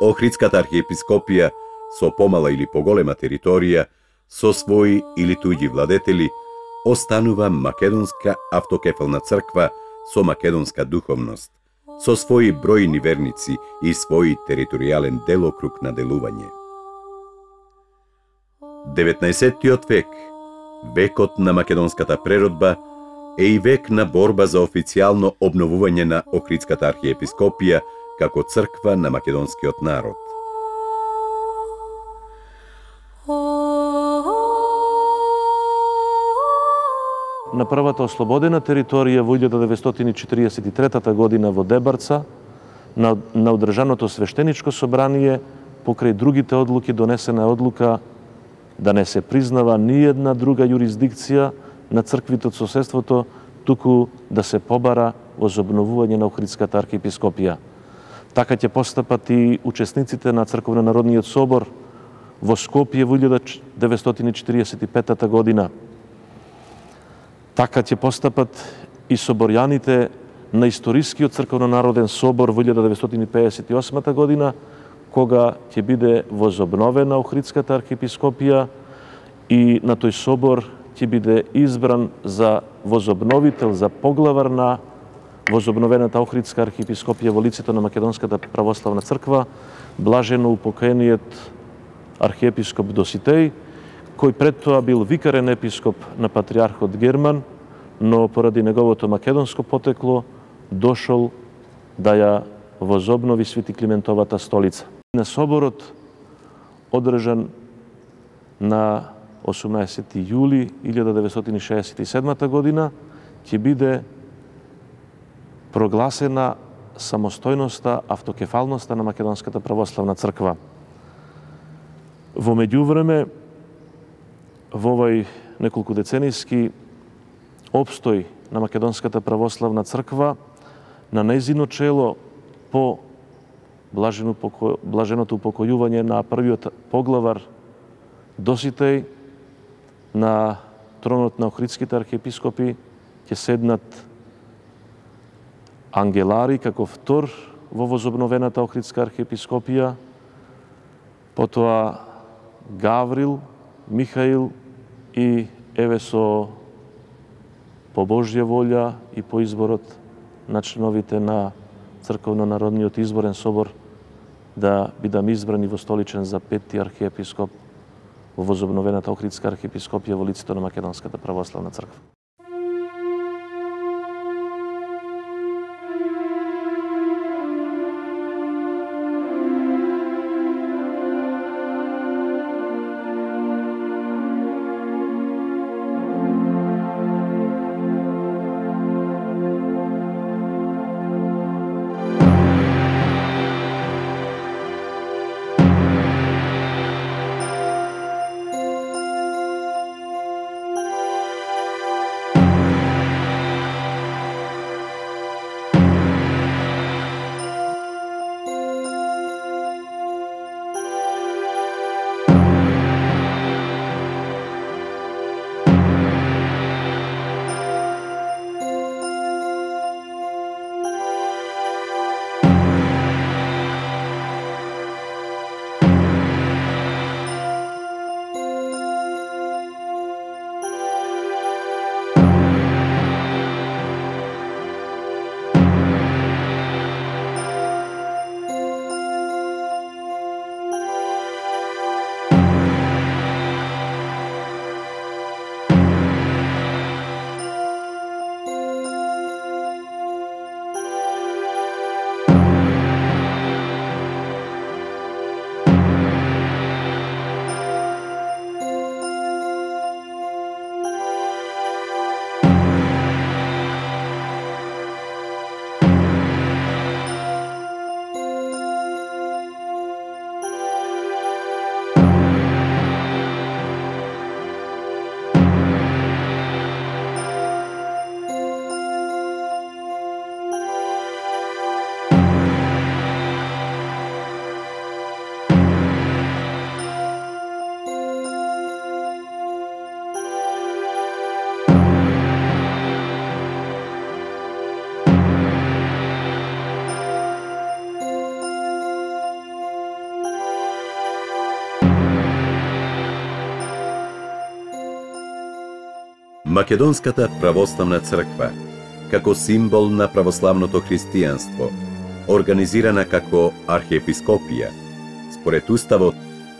S5: Охридската архиепископија со помала или поголема територија, со своји или туѓи владетели, останува македонска автокефална црква со македонска духовност, со своји бројни верници и свој територијален делокруг на делување. деветнаесеттиот век, векот на македонската преродба, е и век на борба за официјално обновување на Охридската архиепископија како црква на македонскиот народ.
S2: На првата ослободена територија во илјада деветстотини четиридесет и трета година во Дебарца, на, на одржаното свештеничко собрание, покрај другите одлуки донесена е одлука да не се признава ниедна друга јурисдикција на црквите од соседството, туку да се побара возобновување на Охридската архиепископија. Така ќе постапат и учесниците на Црковно-народниот собор во Скопје во илјада деветстотини четиридесет и пета година. Така ќе постапат и соборјаните на историскиот Црковно-народен собор во илјада деветстотини педесет и осма година, кога ќе биде возобновена Охридската архиепископија и на тој собор ќе биде избран за возобновител, за поглавар на возобновената Охридска архиепископија во лицето на Македонската православна црква, блажено упокоениот архиепископ Доситеј, кој пред тоа бил викарен епископ на патриархот Герман, но поради неговото македонско потекло дошол да ја возобнови Свети Климентовата столица. На соборот, одржан на осумнаесети јули илјада деветстотини шеесет и седма година, ќе биде прогласена самостојноста, автокефалноста на Македонската православна црква. Во меѓувреме, во овој неколку деценијски обстој на Македонската православна црква, на нејзино чело по блаженото упокојување на првиот поглавар Доситеј на тронот на Охридските архиепископи ќе седнат Ангелари како втор во возобновената Охридска архиепископија, потоа Гаврил, Михаил и еве со по Божја волја и по изборот на членовите на Црковно-народниот изборен собор да бидам избрани во столичен за петти архиепископ во возобновената Охридска архиепископија во лицето на Македонската православна црква.
S5: Македонската православна црква, како символ на православното христијанство, организирана како архиепископија, според уставот,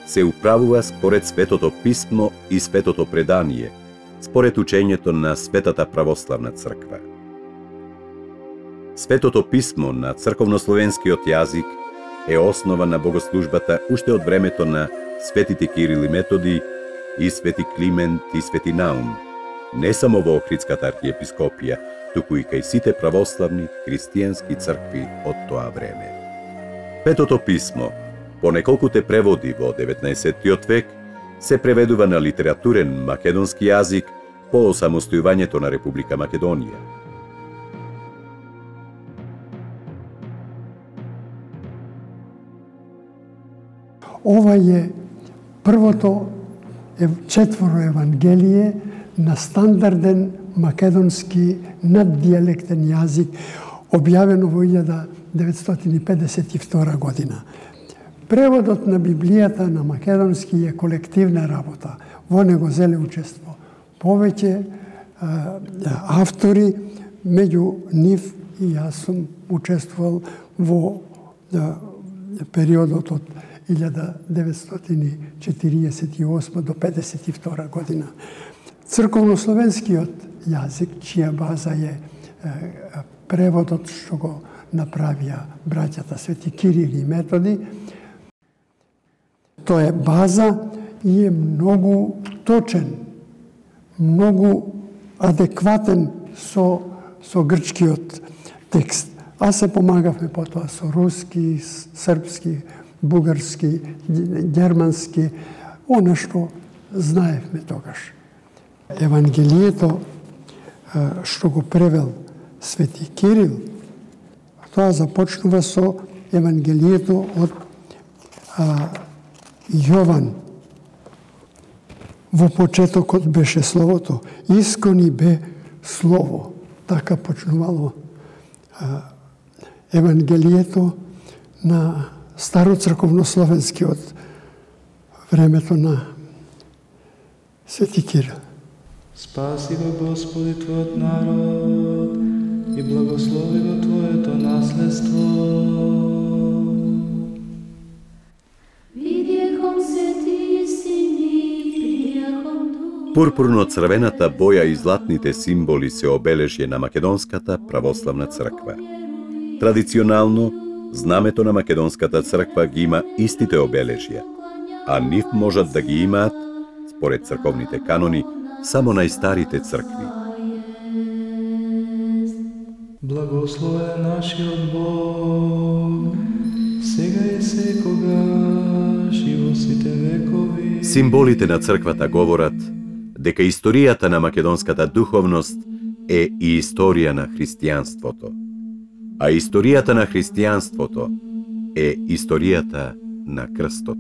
S5: се управува според Светото писмо и Светото предание, според учењето на Светата православна црква. Светото писмо на црковнословенскиот јазик е основа на богослужбата уште од времето на светите Кирил и Методи и свети Климент и свети Наум, не само во Охридската архиепископија, туку и кај сите православни христијански цркви од тоа време. Светото писмо, по неколкуте преводи во деветнаесеттиот век, се преведува на литературен македонски јазик по осамостојувањето на Република Македонија.
S7: Ова е првото четворо евангелие на стандарден македонски наддиалектен јазик, објавено во илјада деветстотини и педесет и втора година. Преводот на Библијата на македонски е колективна работа. Во него зеле учество повеќе а, автори, меѓу нив и јас сум учествувал во а, периодот од илјада деветстотини четириесет и осма до педесет и втора година. Црковнословенскиот јазик, чија база е, е преводот што го направија браќата свети Кирил и Методи, тоа е база и е многу точен, многу адекватен со, со грчкиот текст. А се помагавме потоа со руски, српски, бугарски, германски, она што знаевме тогаш. Евангелието што го превел свети Кирил, тоа започнува со Евангелието од а, Јован. Во почетокот беше Словото, искони бе Слово. Така почнувало а, Евангелието на староцрковнословенски од времето на свети Кирил.
S8: Спаси го Господи Твојот народ и благослови го Твоето наследство.
S5: Пурпурно-црвената боја и златните символи се обележје на Македонската православна црква. Традиционално, знамето на Македонската црква ги има истите обележја, а нив можат да ги имаат, според црковните канони, само најстарите цркви.
S8: Благословен нашиот Бог, сега и секогаш и во сите векови.
S5: Символите на црквата говорат дека историјата на македонската духовност е и историја на христијанството. А историјата на христијанството е историјата на крстот.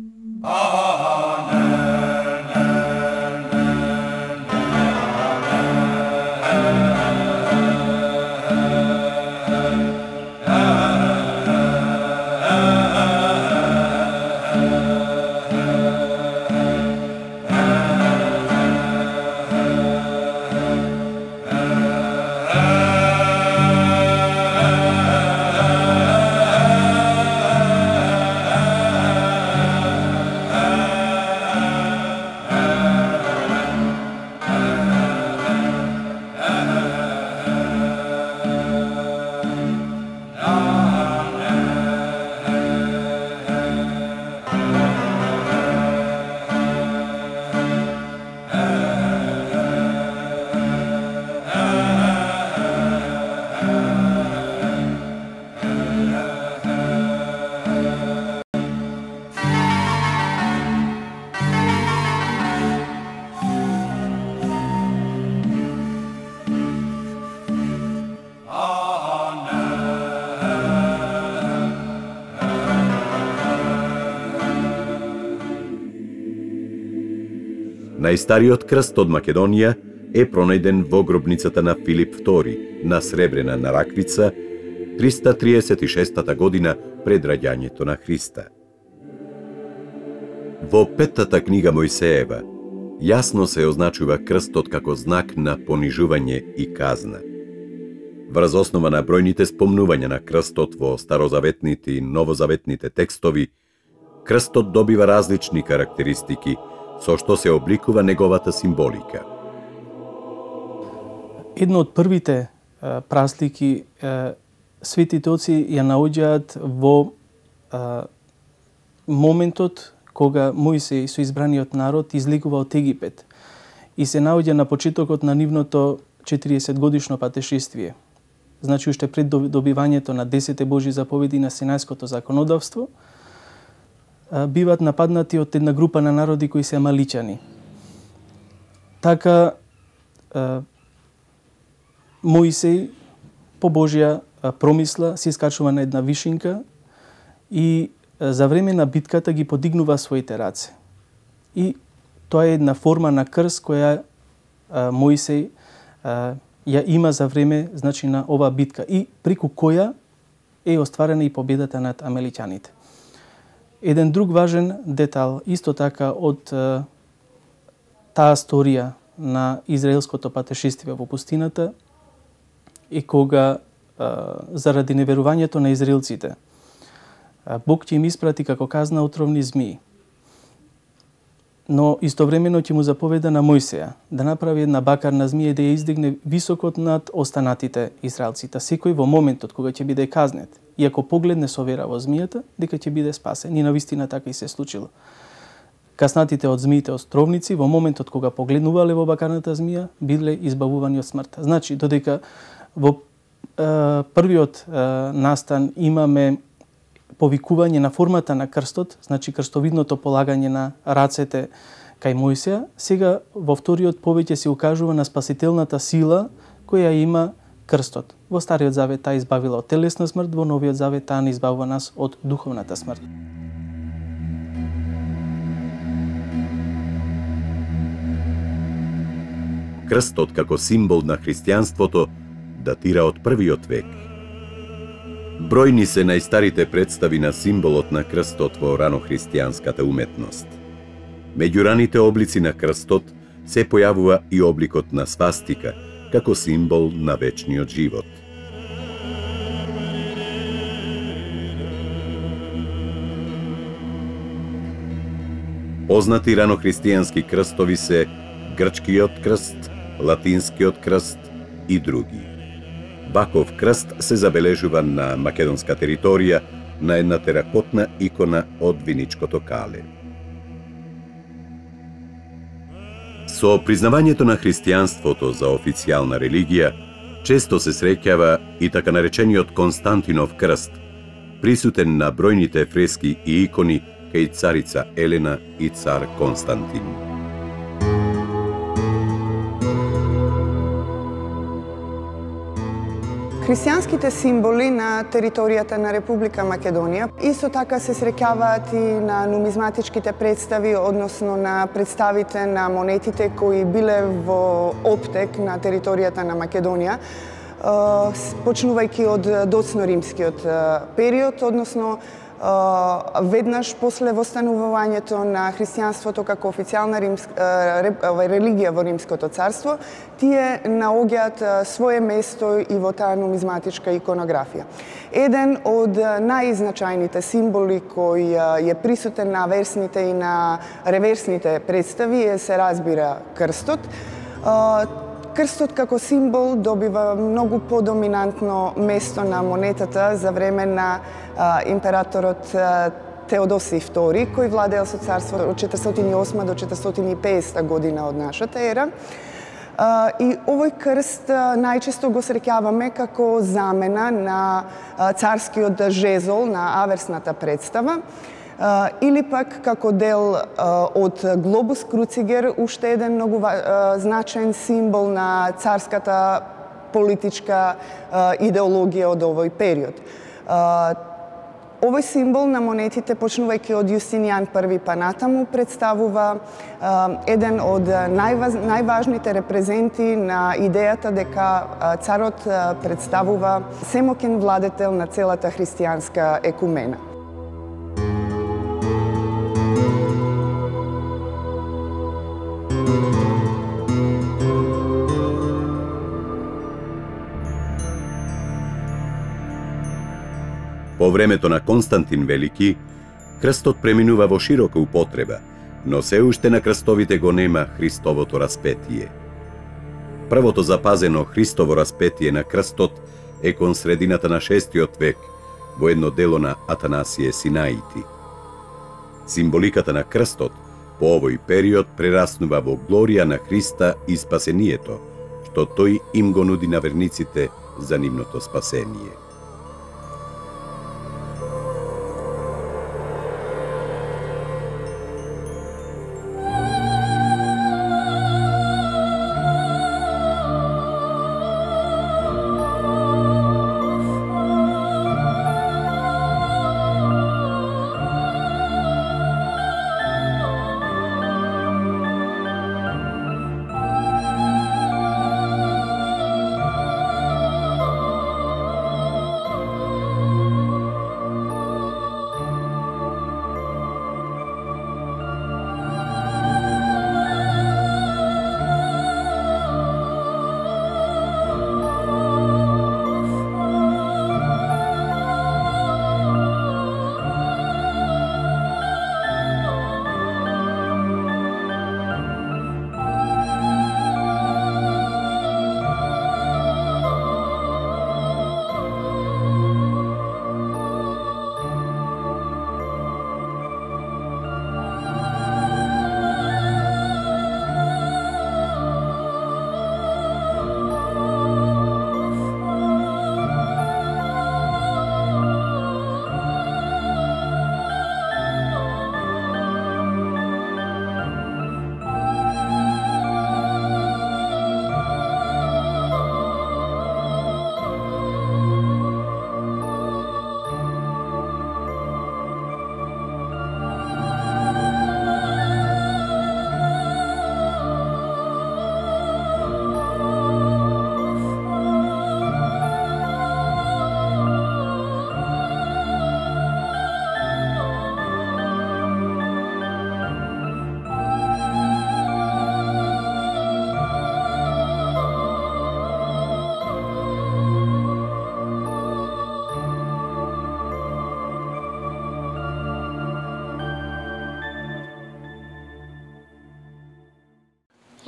S5: Најстариот крст од Македонија е пронајден во гробницата на Филип втори на Сребрена на Раквица триста триесет и шестата година пред раѓањето на Христа. Во петтата книга Мојсеева, Јасно се означува крстот како знак на понижување и казна. Врз основа на бројните спомнувања на крстот во старозаветните и новозаветните текстови, крстот добива различни карактеристики со што се обликува неговата символика.
S9: Едно од првите е, праслики е, светите оци ја наоѓаат во е, моментот кога Мојсеј со избраниот народ излегува од Египет и се наоѓа на почетокот на нивното четириесет годишно патешествие. Значи, уште пред добивањето на десете Божји заповеди на Синајското законодавство, биваат нападнати од една група на народи кои се амаличани. Така, Мојсеј по Божја промисла се искачува на една вишинка и за време на битката ги подигнува своите раце. И тоа е една форма на крст која Мојсеј ја има за време, значи, на оваа битка и преку која е остварена и победата над амаличаните. Еден друг важен детал, исто така од е, таа сторија на израелското патешествие во пустината, е кога, е, заради неверувањето на израелците, Бог ќе им испрати како казна отровни змии. Но истовремено ќе му заповеда на Мојсеја да направи една бакарна змија и да ја издигне високот над останатите израелците. Секој во моментот кога ќе биде казнет и ако погледне со вера во змијата, дека ќе биде спасен. И навистина така и се случило. Каснатите од змиите островници во моментот кога погледнувале во бакарната змија, биле избавувани од смртта. Значи, додека во е, првиот е, настан имаме повикување на формата на крстот, значи крстовидното полагање на рацете кај Мојсеја, сега во вториот повеќе се укажува на спасителната сила која има крстот. Во Стариот Завет таа избавила од телесна смрт, во Новиот Завет таа не избавува нас од духовната смрт.
S5: Крстот како символ на христијанството датира од првиот век. Бројни се најстарите представи на символот на крстот во ранохристијанската уметност. Меѓу раните облици на крстот се појавува и обликот на свастика, како символ на вечниот живот. Познати ранохристијански крстови се грчкиот крст, латинскиот крст и други. Ваков крст се забележува на македонска територија на една теракотна икона од виничкото кале. Со признавањето на христијанството за официјална религија, често се среќава и така наречениот Константинов крст, присутен на бројните фрески и икони кај царица Елена и цар Константин.
S10: Христијанските символи на територијата на Република Македонија исто така се среќаваат и на нумизматичките представи, односно на представите на монетите кои биле во оптек на територијата на Македонија, почнувајќи од доцно-римскиот период, односно веднаш после востанувањето на христијанството како официјална религија во Римското царство, тие наоѓаат свое место и во таа нумизматичка иконографија. Еден од најзначајните символи кој е присутен на версните и на реверсните представи е, се разбира, крстот. Крстот како символ добива многу подоминантно место на монетата за време на а, императорот а, Теодосиј втори, кој владеел со царство од четиристотини и осма до четиристотини и педесета година од нашата ера. А, и овој крст а, најчесто го среќаваме како замена на а, царскиот жезол на аверсната представа, Uh, или пак како дел uh, од глобус круцигер, уште еден многу uh, значаен символ на царската политичка uh, идеологија од овој период. Uh, овој символ на монетите, почнувајќи од Јустинијан први па натаму, представува uh, еден од најваж, најважните репрезенти на идејата дека uh, царот uh, представува семоќен владетел на целата христијанска екумена.
S5: По времето на Константин Велики, крстот преминува во широка употреба, но се уште на крстовите го нема Христовото распетие. Првото запазено Христово распетие на крстот е кон средината на шестиот век во едно дело на Атанасије Синаити. Символиката на крстот по овој период прераснува во глорија на Христа и спасението, што тој им го нуди на верниците за нивното спасение.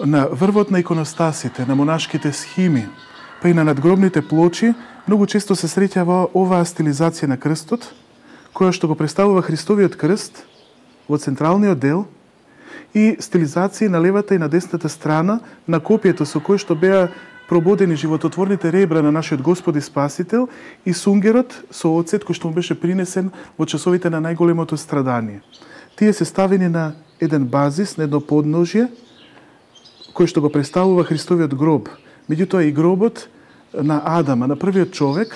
S11: На врвот на иконостасите, на монашките схими, па и на надгробните плочи, многу често се среќава оваа стилизација на крстот, која што го представува Христовиот крст во централниот дел и стилизација на левата и на десната страна на копието со кој што беа прободени живототворните ребра на нашиот Господ и Спасител и сунгерот со оцет кој што му беше принесен во часовите на најголемото страдание. Тие се ставени на еден базис, на едно подножје, кој што го представува Христовиот гроб. Меѓутоа и гробот на Адама, на првиот човек,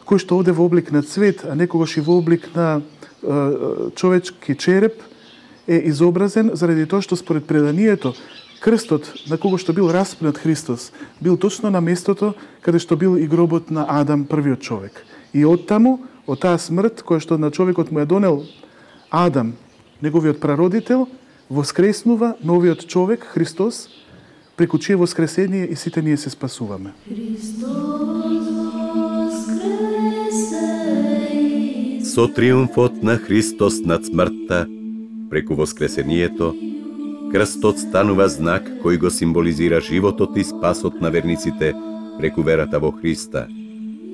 S11: кој што оде во облик на цвет, а некогаш и во облик на е, човечки череп, е изобразен заради тоа што според преданието крстот на кого што бил распнат Христос бил точно на местото каде што бил и гробот на Адам, првиот човек. И оттаму, од таа смрт која што на човекот му ја донел Адам, неговиот прародител, воскреснува новиот човек, Христос, преку чие воскресение и сите ние се спасуваме.
S5: Со триумфот на Христос над смртта, преку воскресението, крстот станува знак кој го символизира животот и спасот на верниците преку верата во Христа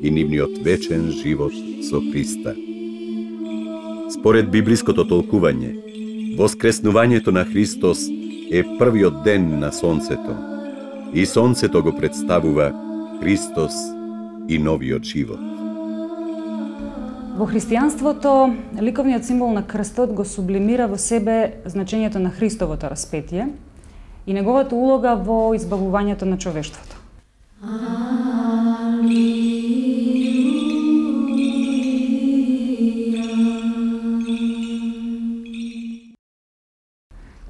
S5: и нивниот вечен живот со Христа. Според библиското толкување, воскреснувањето на Христос е првиот ден на сонцето и сонцето го представува Христос и новиот живот.
S12: Во христијанството, ликовниот символ на крстот го сублимира во себе значењето на Христовото распетие и неговата улога во избавувањето на човештвото.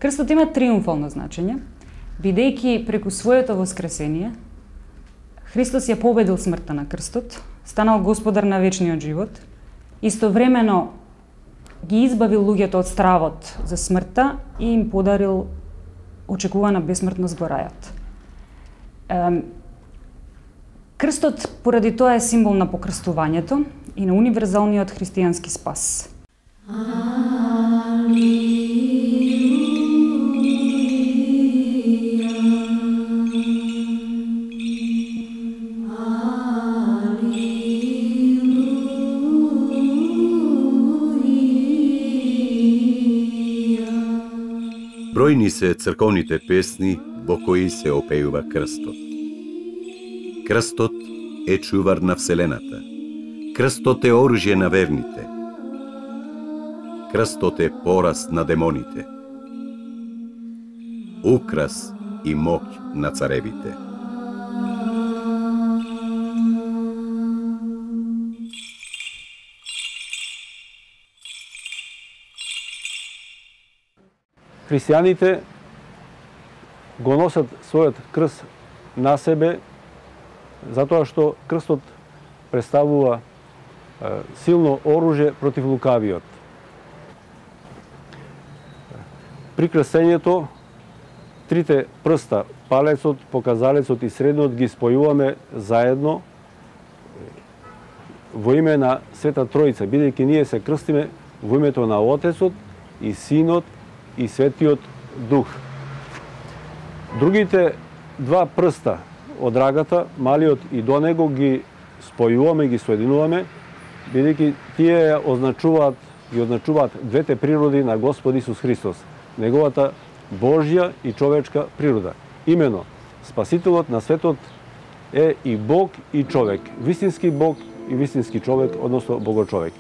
S12: Крстот има триумфално значење, бидејќи преку своето воскресение Христос ја победил смртта на крстот, станал господар на вечниот живот, истовремено ги избавил луѓето од стравот за смртта и им подарил очекувана бесмртност во рајот. Крстот поради тоа е символ на покрстувањето и на универзалниот христијански спас.
S5: Бројни се црковните песни во кои се опеува крстот. Крстот е чувар на Вселената. Крстот е оружје на верните. Крстот е пораз на демоните. Украс и моќ на царевите.
S13: Христијаните го носат својот крст на себе, затоа што крстот представува силно оружје против лукавиот. При крстењето, трите прста, палецот, показалецот и средниот, ги спојуваме заедно во име на Света Тројца, бидејќи ние се крстиме во името на Отецот и Синот и Светиот Дух. Другите два прста од рагата, малиот и до него, ги спојуваме, ги соединуваме, бидејќи тие ја означуваат, ги означуваат двете природи на Господ Исус Христос, неговата Божја и човечка природа. Имено, Спасителот на светот е и Бог и човек, вистински Бог и вистински човек, односно Богочовек.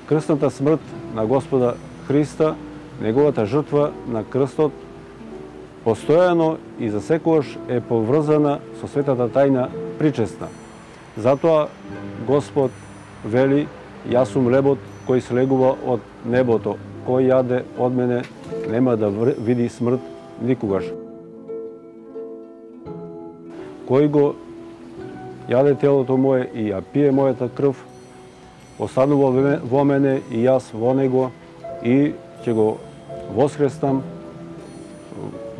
S13: Крстната смрт на Господа Христа, неговата жртва на крстот, постојано и за секогаш е поврзана со светата тајна причесна. Затоа Господ вели: јас сум лебот кој слегува од небото, кој јаде од мене нема да види смрт никогаш. Кој го јаде телото мое и ја пие мојата крв, останува во мене и јас во него, и ќе го воскреснам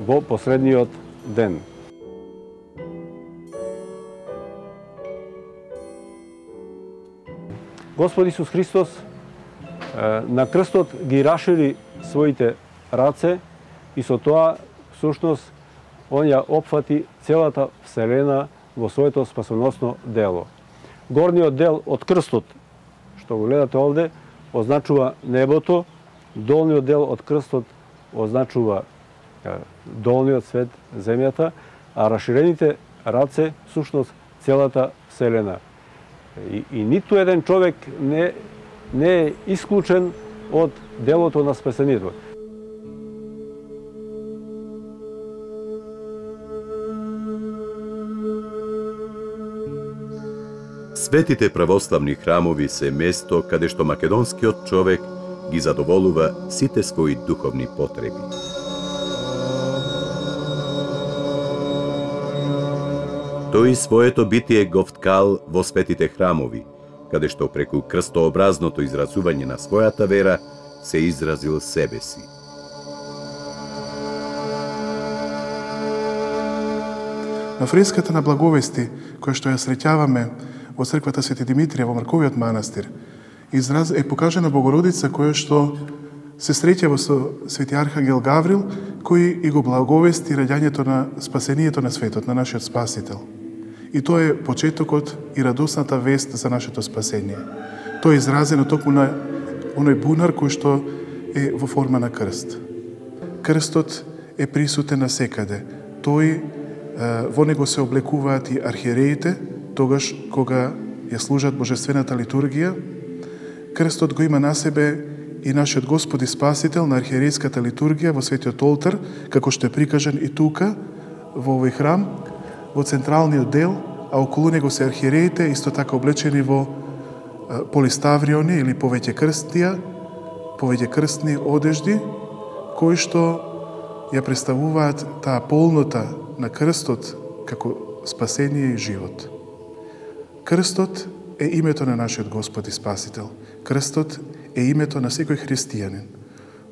S13: во последниот ден. Господ Исус Христос на крстот ги рашири своите раце и со тоа всушност он ја опфати целата Вселена во своето спасоносно дело. Горниот дел од крстот, што го гледате овде, означува небото, долниот дел од крстот означува долниот свет, земјата, а раширените раце всушност целата Вселена. И, и ниту еден човек не, не е исклучен од делото на спасението.
S5: Светите православни храмови се место каде што македонскиот човек ги задоволува сите своји духовни потреби. Тој своето битие го вткал во светите храмови, каде што преку крстообразното изразување на својата вера се изразил себе си.
S11: На фреската на Благовести, која што ја среќаваме во црквата Свети Димитрија во Марковиот манастир, израз е покажена Богородица која што се среќава со Свети Архангел Гаврил, кој и го благовести раѓањето на спасението на светот, на нашиот Спасител. И тоа е почетокот и радосната вест за нашето спасение. Тоа е изразено токму на оној бунар кој што е во форма на крст. Крстот е присутен насекаде. Тој, во него се облекуваат и архиереите, тогаш кога ја служат божествената литургија. Крстот го има на себе и нашиот Господ и Спасител на архиерејската литургија во светиот олтар, како што е прикажан и тука, во овој храм, во централниот дел, а околу него се архиереите, исто така облечени во полиставриони или повеќе крстија, повеќе крстни одежди, кои што ја представуваат таа полнота на крстот како спасение и живот. Крстот е името на нашиот Господ и Спасител. Крстот е името на секој христијанин.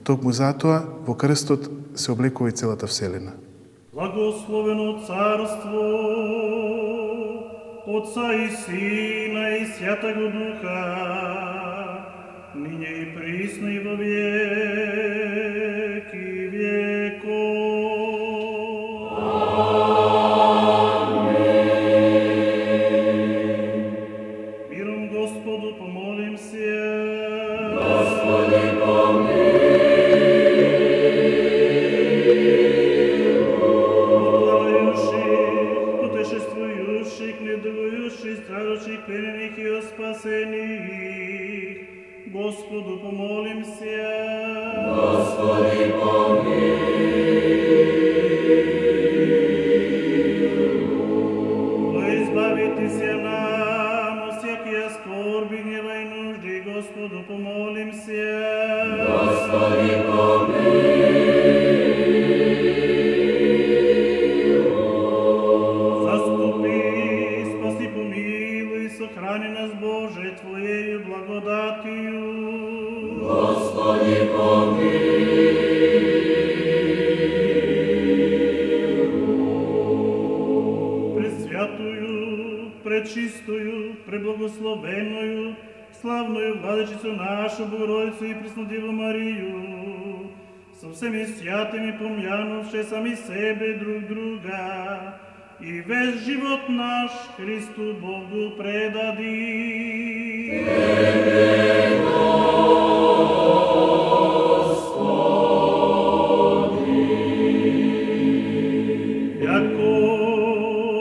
S11: токму затоа во крстот се облекува и целата вселена.
S14: Благословено царство Отца и Сина и Святаго Духа, ниње и присно и во веки веков. Амин. Миром Господу помолим се. Господи помилуј. Путешествующих, недугующих, страдущих, пленених и спасених, Господу помолимся. Господи помилуй. Да избавите се нам от всякия скорби, гнева и нужди, Господу помолимся. Господи помилуй. Сохрани нас, Боже, Твоею благодатью. Господи, помилуй. Пресвятую, пречистую, преблагословенную, славную Владычицу нашу, Богородицу и Преснодеву Марию, со всеми святыми помянувши сами себе друг друга, и весь живот наш Христу Богу предади. Тебе, Господи. Яко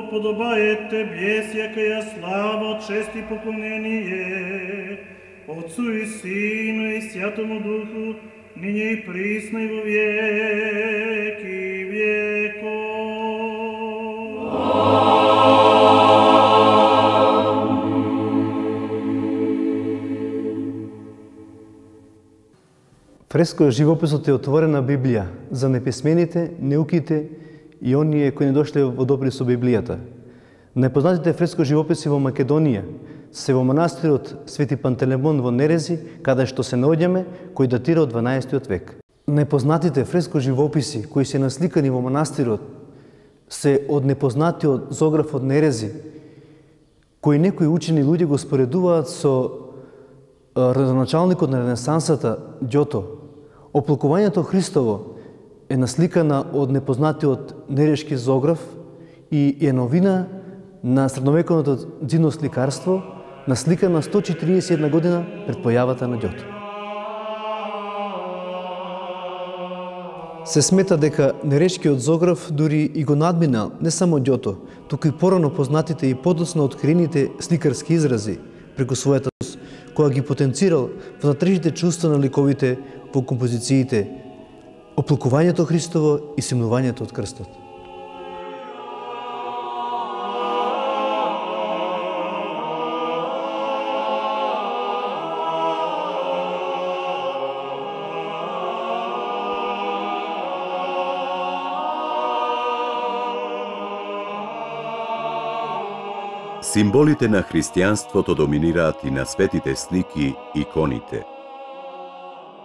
S14: подобае Тебе всякая слава, чест и поклонение Отцу и Сину и Святому Духу, ниње и присно и во веки веков.
S15: Фреско живописот е отворена Библија за неписмените, неуките и оние кои не дошле во допир со Библијата. Најпознатите фреско живописи во Македонија се во манастирот Свети Пантелеймон во Нерези, каде што се наоѓаме, кој датира од дванаесеттиот век. Најпознатите фреско живописи кои се насликани во манастирот се од непознатиот Зограф од Нерези, кои некои учени луѓе го споредуваат со родоначалникот на Ренесансата Ѓото. Оплакувањето Христово е насликана од непознатиот Нерешки Зограф и е новина на средновековното дзидно сликарство, насликана сто четириесет и една година пред појавата на Ѓото. Се смета дека Нерешкиот Зограф дури и го надминал не само Ѓото, туку и порано познатите и подоцна откриените сликарски изрази преку својата која ги потенцирал внатрешните чувства на ликовите во композициите Оплакувањето Христово и симнувањето од крстот.
S5: Символите на христијанството доминираат и на светите слики, иконите.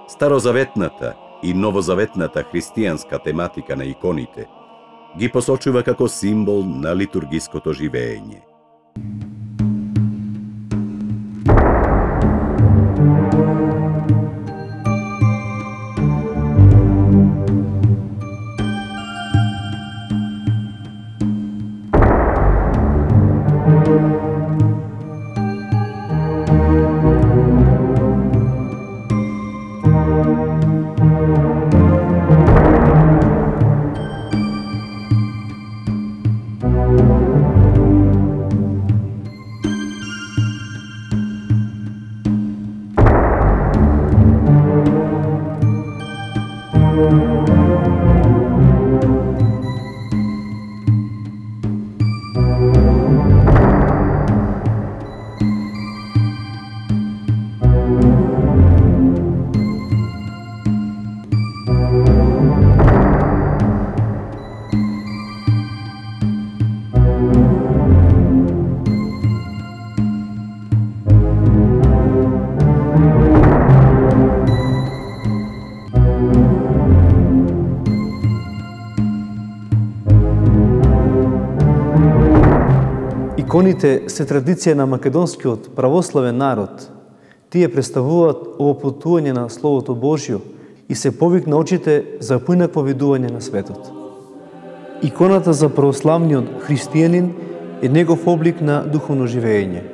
S5: Старозаветната и новозаветната христијанска тематика на иконите ги посочува како символ на литургиското живеење.
S15: Иконите се традиција на македонскиот православен народ. Тие представуваат овоплотување на Словото Божјо и се повик на очите за поинакво видување на светот. Иконата за православниот христијанин е негов облик на духовно живење.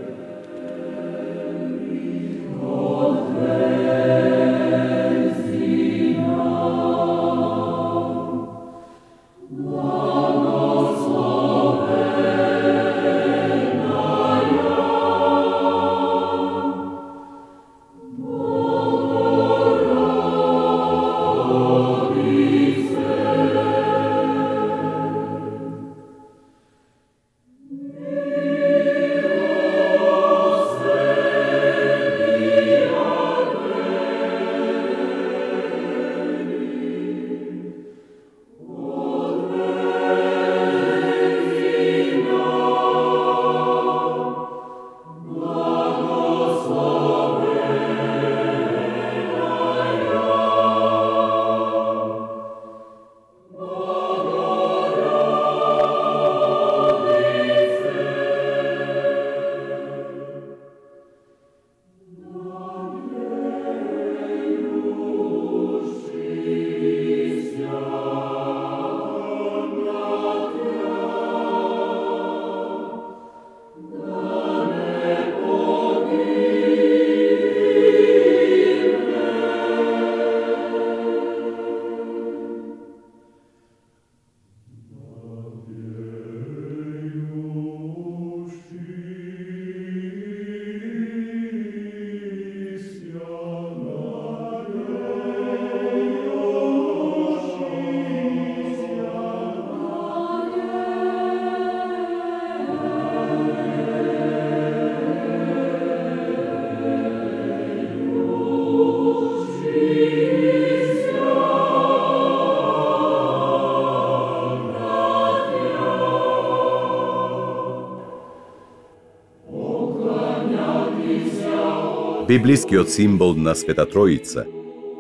S5: Библискиот символ на Света Троица,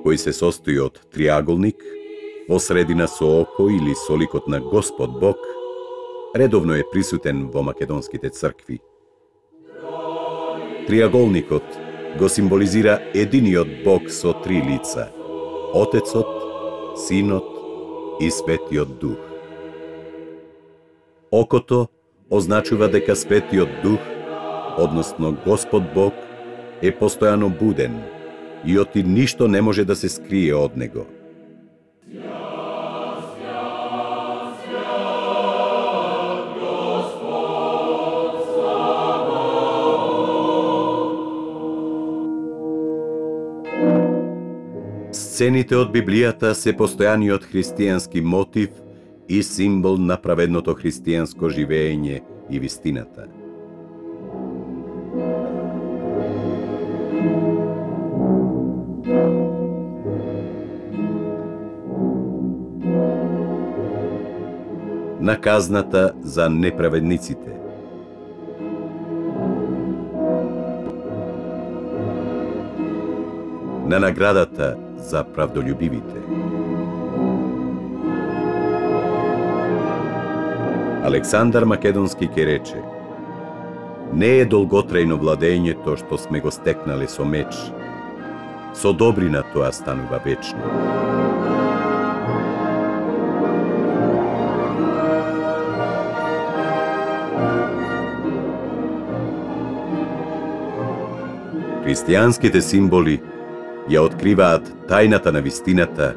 S5: кој се состои од триаголник, во средина со око или со ликот на Господ Бог, редовно е присутен во македонските цркви. Триаголникот го символизира единиот Бог со три лица – Отецот, Синот и Светиот Дух. Окото означува дека Светиот Дух, односно Господ Бог, е постојано буден и оти ништо не може да се скрие од него. Сцените од Библијата се постојаниот христијански мотив и символ на праведното христијанско живење и вистината. На казната за неправедниците. На наградата за правдолюбивите. Александар Македонски ке рече: не е долготрајно владењето што сме го стекнале со меч. Со добрина тоа станува вечно. Христијанските символи ја откриваат тајната на вистината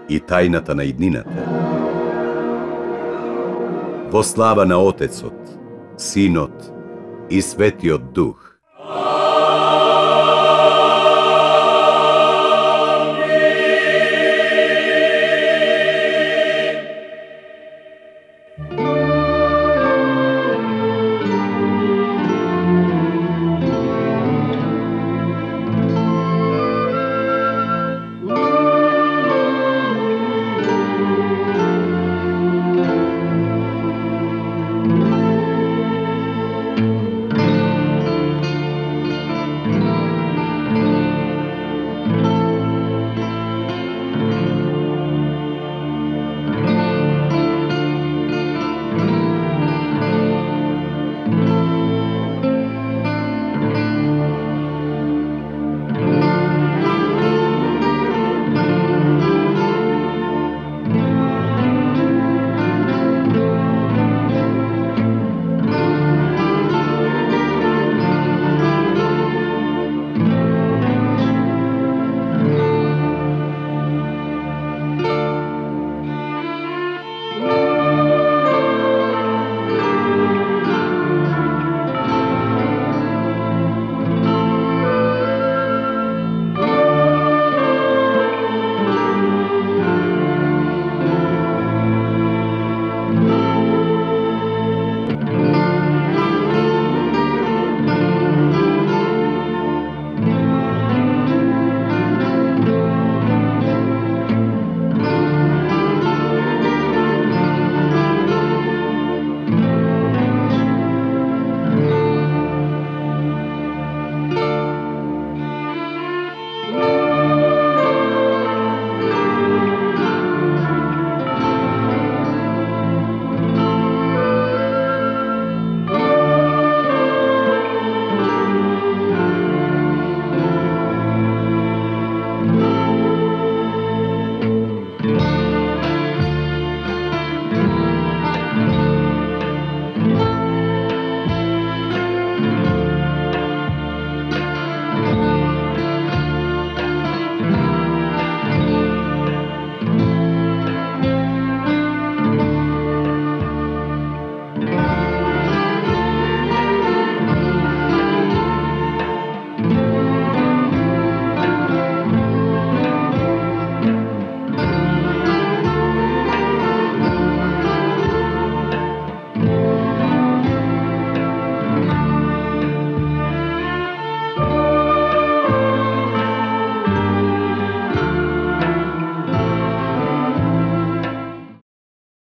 S5: и тајната на иднината. Во слава на Отецот, Синот и Светиот Дух.